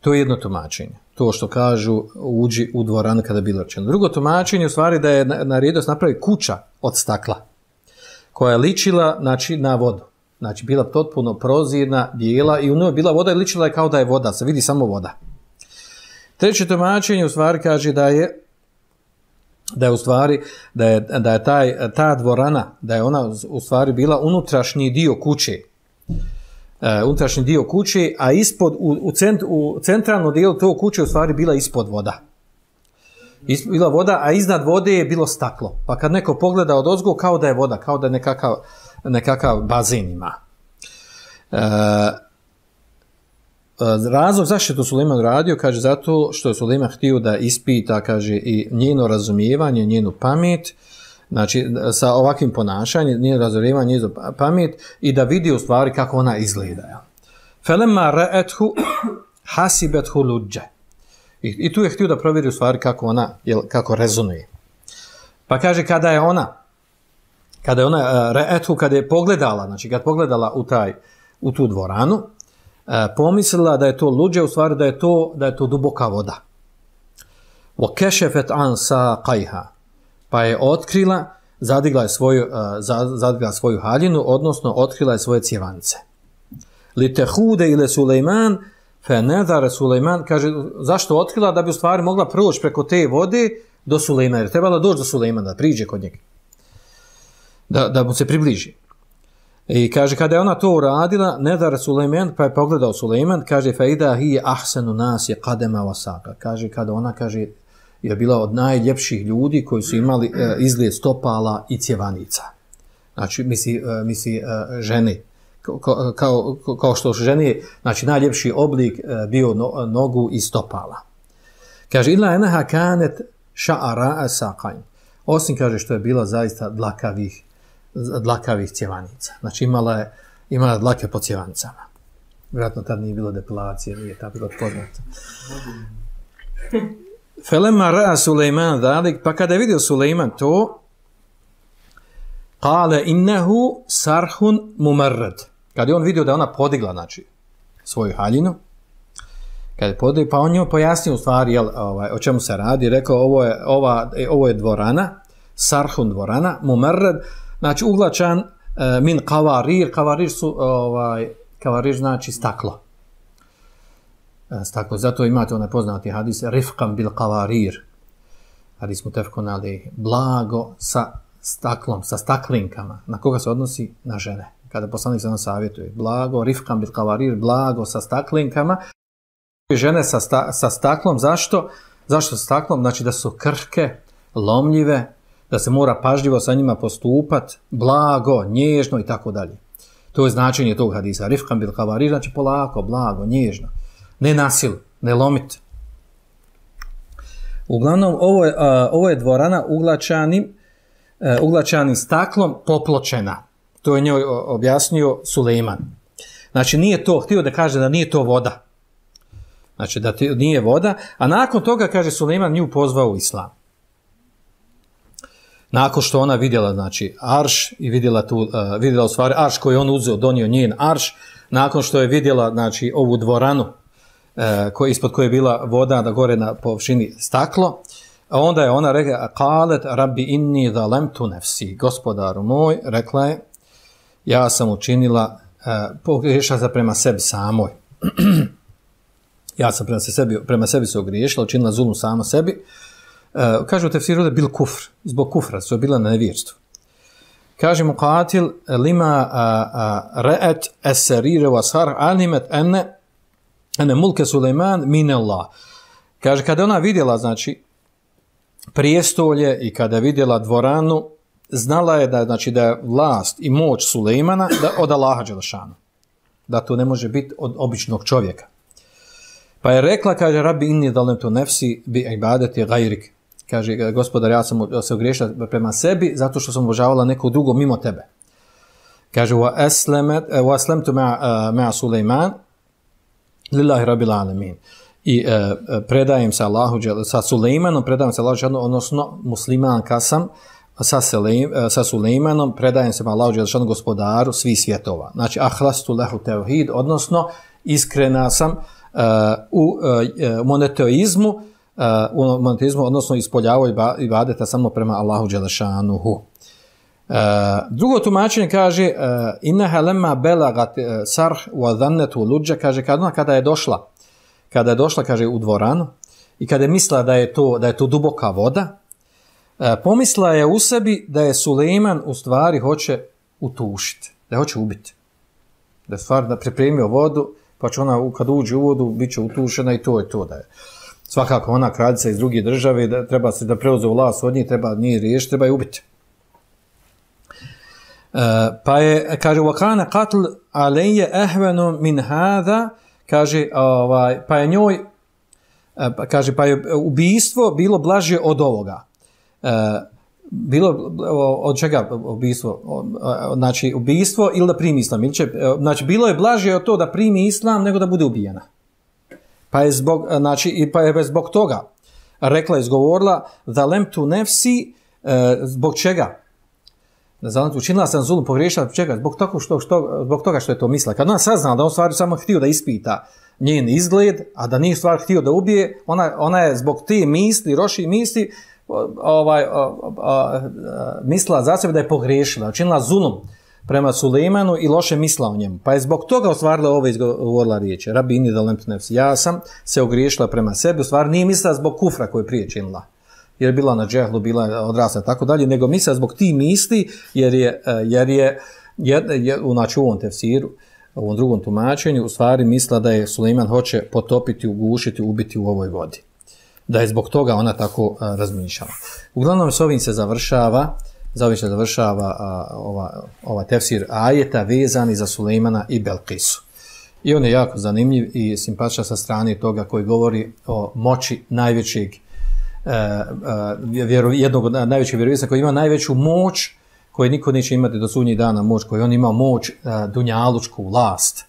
To je jedno tumačenje. To što kažu uđi u dvoranu kada je bilo rečeno. Drugo tumačenje u stvari da je naredio da napravi kuća od stakla koja je ličila, znači, na vodu. Znači, bila potpuno prozirna, bijela i u njoj bila voda i ličila je kao da je voda, se vidi samo voda. Treće tumačenje u stvari kaže da je da je u stvari da je, da je taj, ta dvorana, da je ona u stvari bila unutrašnji dio kuće. Uh, unutrašnji dio kuće, a ispod, u, u, cent, u centralnom dijelu tog kuće u stvari bila ispod voda. Is, bila voda, a iznad vode je bilo staklo. Pa kad neko pogleda od ozgo, kao da je voda, kao da je nekakav, nekakav bazen ima. Uh, razlog zašto je to Sulejman radio, kaže zato što je Sulejman htio da ispita, kaže, i njeno razumijevanje, njenu pamet, znači sa ovakvim ponašanjem, njeno razumijevanje, njenu pamet i da vidi u stvari kako ona izgleda. Felemma ra'athu hasibethu luđe. I, I tu je htio da provjeri u stvari kako ona, jel, kako rezonuje. Pa kaže kada je ona, kada je ona uh, ra'athu, kada je pogledala, znači kad pogledala u taj, u tu dvoranu, E, pomislila da je to luđe, u stvari da je to, da je to duboka voda. وَكَشَفَتْ عَنْ سَاقَيْهَا. Pa je otkrila, zadigla je svoju, uh, zadigla svoju haljinu, odnosno otkrila je svoje cjevance. لِتَهُودَ إِلَى سُلَيْمَانَ فَنَذَرَ Sulejman, kaže, zašto otkrila? Da bi u stvari mogla proći preko te vode do Sulejmana. Jer trebala doći do Sulejmana, da priđe kod njega. Da, da mu se približi. I kaže, kada je ona to uradila, nedar Sulejman, pa je pogledao Sulejman, kaže, faida hi ahsanu nas je kadema wasaka. Kaže, kada ona, kaže, je bila od najljepših ljudi koji su imali e, izgled stopala i cjevanica. Znači, misli, e, misli e, žene. Kao, kao, kao što žene, znači, najljepši oblik e, bio no, nogu i stopala. Kaže, illa enaha kanet ša'ara saqain. Osim, kaže, što je bila zaista dlakavih dlakavih cjevanica. Znači imala je, imala je dlake po cjevanicama. Vjerojatno tad nije bilo depilacije, nije tad bilo poznato. Felemma ra'a Sulejman dalik, pa kada je vidio Sulejman to, kale innehu sarhun mumarrad. Kada je on vidio da ona podigla, znači, svoju haljinu, kada je podigla, pa on njoj pojasnio u stvari, jel, ovaj, o čemu se radi, rekao, ovo je, ova, ovo je dvorana, sarhun dvorana, mumarrad, znači uglačan uh, min kavarir, kavarir su, ovaj, kavarir znači staklo. Uh, staklo, zato imate onaj poznati hadis, rifqam bil kavarir. Hadis mutefkun alejhi, blago sa staklom, sa staklinkama. Na koga se odnosi? Na žene. Kada poslanik se nam savjetuje, blago, rifqam bil kavarir, blago sa staklinkama. Žene sa, sta, sa staklom, zašto? Zašto sa staklom? Znači da su krhke, lomljive, da se mora pažljivo sa njima postupat, blago, nježno i tako dalje. To je značenje tog hadisa. Rifqam bil kavarir, znači polako, blago, nježno. Ne nasil, ne lomit. Uglavnom, ovo je, a, ovo je dvorana uglačanim, a, uglačanim staklom popločena. To je njoj objasnio Sulejman. Znači, nije to, htio da kaže da nije to voda. Znači, da nije voda. A nakon toga, kaže Sulejman, nju pozvao u islam. Nakon što ona vidjela, znači, arš i vidjela tu, uh, vidjela u stvari arš koji on uzeo, donio njen arš, nakon što je vidjela, znači, ovu dvoranu uh, koje, ispod koje je bila voda da gore na površini staklo, onda je ona rekla, qalet rabbi inni zalamtu nafsi, gospodaru moj, rekla je, ja sam učinila, uh, pogriješila se prema sebi samoj. ja sam prema sebi, prema sebi se ogriješila, učinila zulum sama sebi. Uh, kažu tefsiru da je bil kufr, zbog kufra, su je bila na nevjerstvu. Kaže mu qatil, lima ra'at as-sarira wa sar alimet ene, ene mulke Sulejman min Allah. Kaže, kada ona vidjela, znači, prijestolje i kada vidjela dvoranu, znala je da, znači, da je vlast i moć Sulejmana da, od Allaha dželešanu. Da to ne može biti od običnog čovjeka. Pa je rekla, kaže, rabbi inni zalamtu nafsi bi ibadati gajrik. Kaže, gospodar, ja sam se ogriješila prema sebi zato što sam obožavala nekog drugog mimo tebe. Kaže, wa aslamtu ma'a Sulejman lillahi rabbil alamin. I e, predajem se Allahu, sa Sulejmanom, predajem se Allahu, odnosno muslimanka sam, sa, Selejm, sa Sulejmanom, predajem se Allahu, gospodaru svih svjetova. Znači, ahlastu lehu tevhid, odnosno, iskrena sam uh, u uh, monoteizmu, uh, u monoteizmu, odnosno ispoljavao ibadeta samo prema Allahu dželešanuhu. Uh, drugo tumačenje kaže uh, innaha lamma balagat uh, sarh wa dhannatu lujja, kaže kada, kada je došla kada je došla, kaže, u dvoranu i kada je mislila da je to, da je to duboka voda, e, pomisla je u sebi da je Sulejman u stvari hoće utušiti, da je hoće ubiti. Da je stvar da pripremio vodu, pa će ona kad uđe u vodu bit će utušena i to je to. Da je. Svakako ona kraljica iz druge države, da treba se da preuze vlast od njih, treba nije riješiti, treba je ubiti. Uh, pa je, kaže, وَكَانَ قَتْلْ عَلَيَّ أَهْوَنُ مِنْ هَذَا, kaže, ovaj, pa je njoj, uh, kaže, pa je ubijstvo bilo blaže od ovoga. Uh, bilo, od čega ubijstvo? Uh, znači, ubijstvo ili da primi islam. Ili će, uh, znači, bilo je blaže od to da primi islam nego da bude ubijena. Pa je zbog, znači, pa je zbog toga rekla, izgovorila, zalemtu nefsi, uh, zbog čega? Zalemtu, učinila sam zulum, pogriješila, zbog čega? Zbog toga što, što, zbog toga što je to mislila. Kad ona saznala da on stvari samo htio da ispita njen izgled, a da nije stvar htio da ubije, ona, ona je zbog te misli, roši misli, ovaj, o, o, o, mislila za sebe da je pogriješila, učinila zulum prema Sulejmanu i loše misla o njemu. Pa je zbog toga ostvarila ovo izgovorila riječi. Rabi inni zalemtu nefsi. Ja sam se ogriješila prema sebi, u stvari nije mislila zbog kufra koju je prije činila. Jer je bila na džehlu, bila je odrasla i tako dalje, nego mislila zbog ti misli, jer je, jer je, jer, jer, znači u ovom tefsiru, u ovom drugom tumačenju, u stvari mislila da je Sulejman hoće potopiti, ugušiti, ubiti u ovoj vodi. Da je zbog toga ona tako a, razmišljala. Uglavnom s ovim se završava, za ovim se završava a, ova, ova tefsir ajeta vezani za Sulejmana i Belkisu. I on je jako zanimljiv i simpatičan sa strane toga koji govori o moći najvećeg Uh, uh, vjeru, jednog od najvećih vjerovjesnika koji ima najveću moć koju niko neće imati do sudnjeg dana, moć koji on ima moć uh, dunjalučku vlast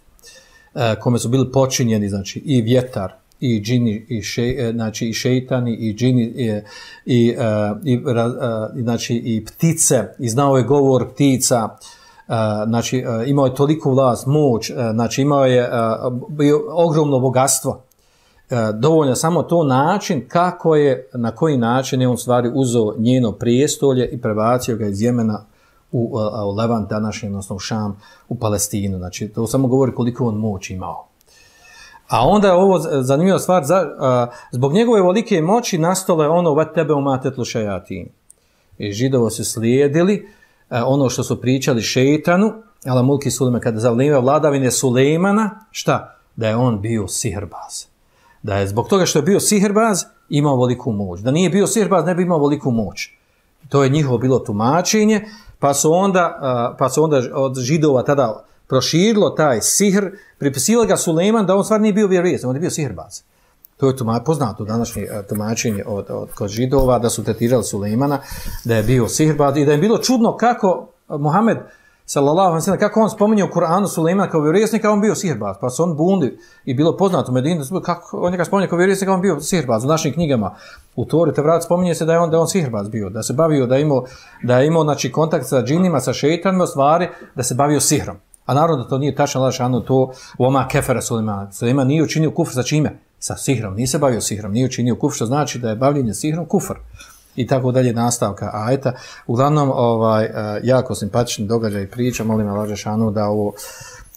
uh, kome su bili počinjeni znači i vjetar i džini i še, znači i šejtani i džini i i, uh, i, uh, znači i ptice i znao je govor ptica. Uh, znači uh, imao je toliku vlast, moć, uh, znači imao je uh, bio ogromno bogatstvo. Dovoljno samo to način kako je, na koji način je on stvari uzeo njeno prijestolje i prebacio ga iz Jemena u, u Levant današnji, odnosno u Šam, u Palestinu. Znači, to samo govori koliko on moć imao. A onda je ovo zanimljiva stvar, za, a, zbog njegove velike moći nastalo je ono vat tebe umatetlu šajatin. I Židovo su slijedili a, ono što su pričali šejtanu, ala mulki Sulejman, kada za vrijeme vladavine Sulejmana, šta? Da je on bio sihirbaz. Da je zbog toga što je bio sihirbaz imao veliku moć. Da nije bio sihirbaz ne bi imao veliku moć. To je njihovo bilo tumačenje, pa su onda, pa su onda od Židova tada proširilo taj sihr, pripisilo ga Sulejman da on stvar nije bio vjerovjesnik, on je bio sihirbaz. To je tuma, poznato današnje tumačenje od, od kod Židova da su tretirali Sulejmana da je bio sihirbaz i da je bilo čudno kako Muhammed sallallahu alejhi ve sellem kako on spominje u Kur'anu Sulejmana kao vjerovjesnika, on bio sihirbaz, pa su on bundi i bilo poznato u Medini kako on njega spominje kao vjerovjesnika, on bio sihirbaz u našim knjigama. U Tori Tevrat spominje se da je on da je on sihirbaz bio, da se bavio da je imao da je imao znači kontakt sa džinima, sa šejtanima, u stvari da se bavio sihrom. A naravno da to nije tačno, lažano to oma kefera Sulejman. Sulejman nije učinio kufr sa čime? Sa sihrom, nije se bavio sihrom, nije učinio kufr, što znači da je bavljenje sihrom kufr. I tako dalje nastavka ajeta. Uglavnom, ovaj, jako simpatični događaj i priča, molim Allah dželešanu da ovo,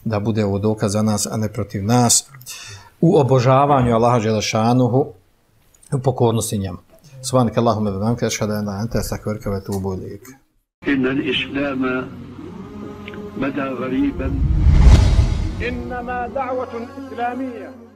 da bude ovo dokaz za nas, a ne protiv nas, u obožavanju Allaha dželešanuhu, u pokornosti njemu. Subhanaka Allahumma wa bihamdika ashhadu an la ilaha illa anta astaghfiruka wa atubu ilayk. Inna al-islama bada ghariban. Innama da'watun islamiyya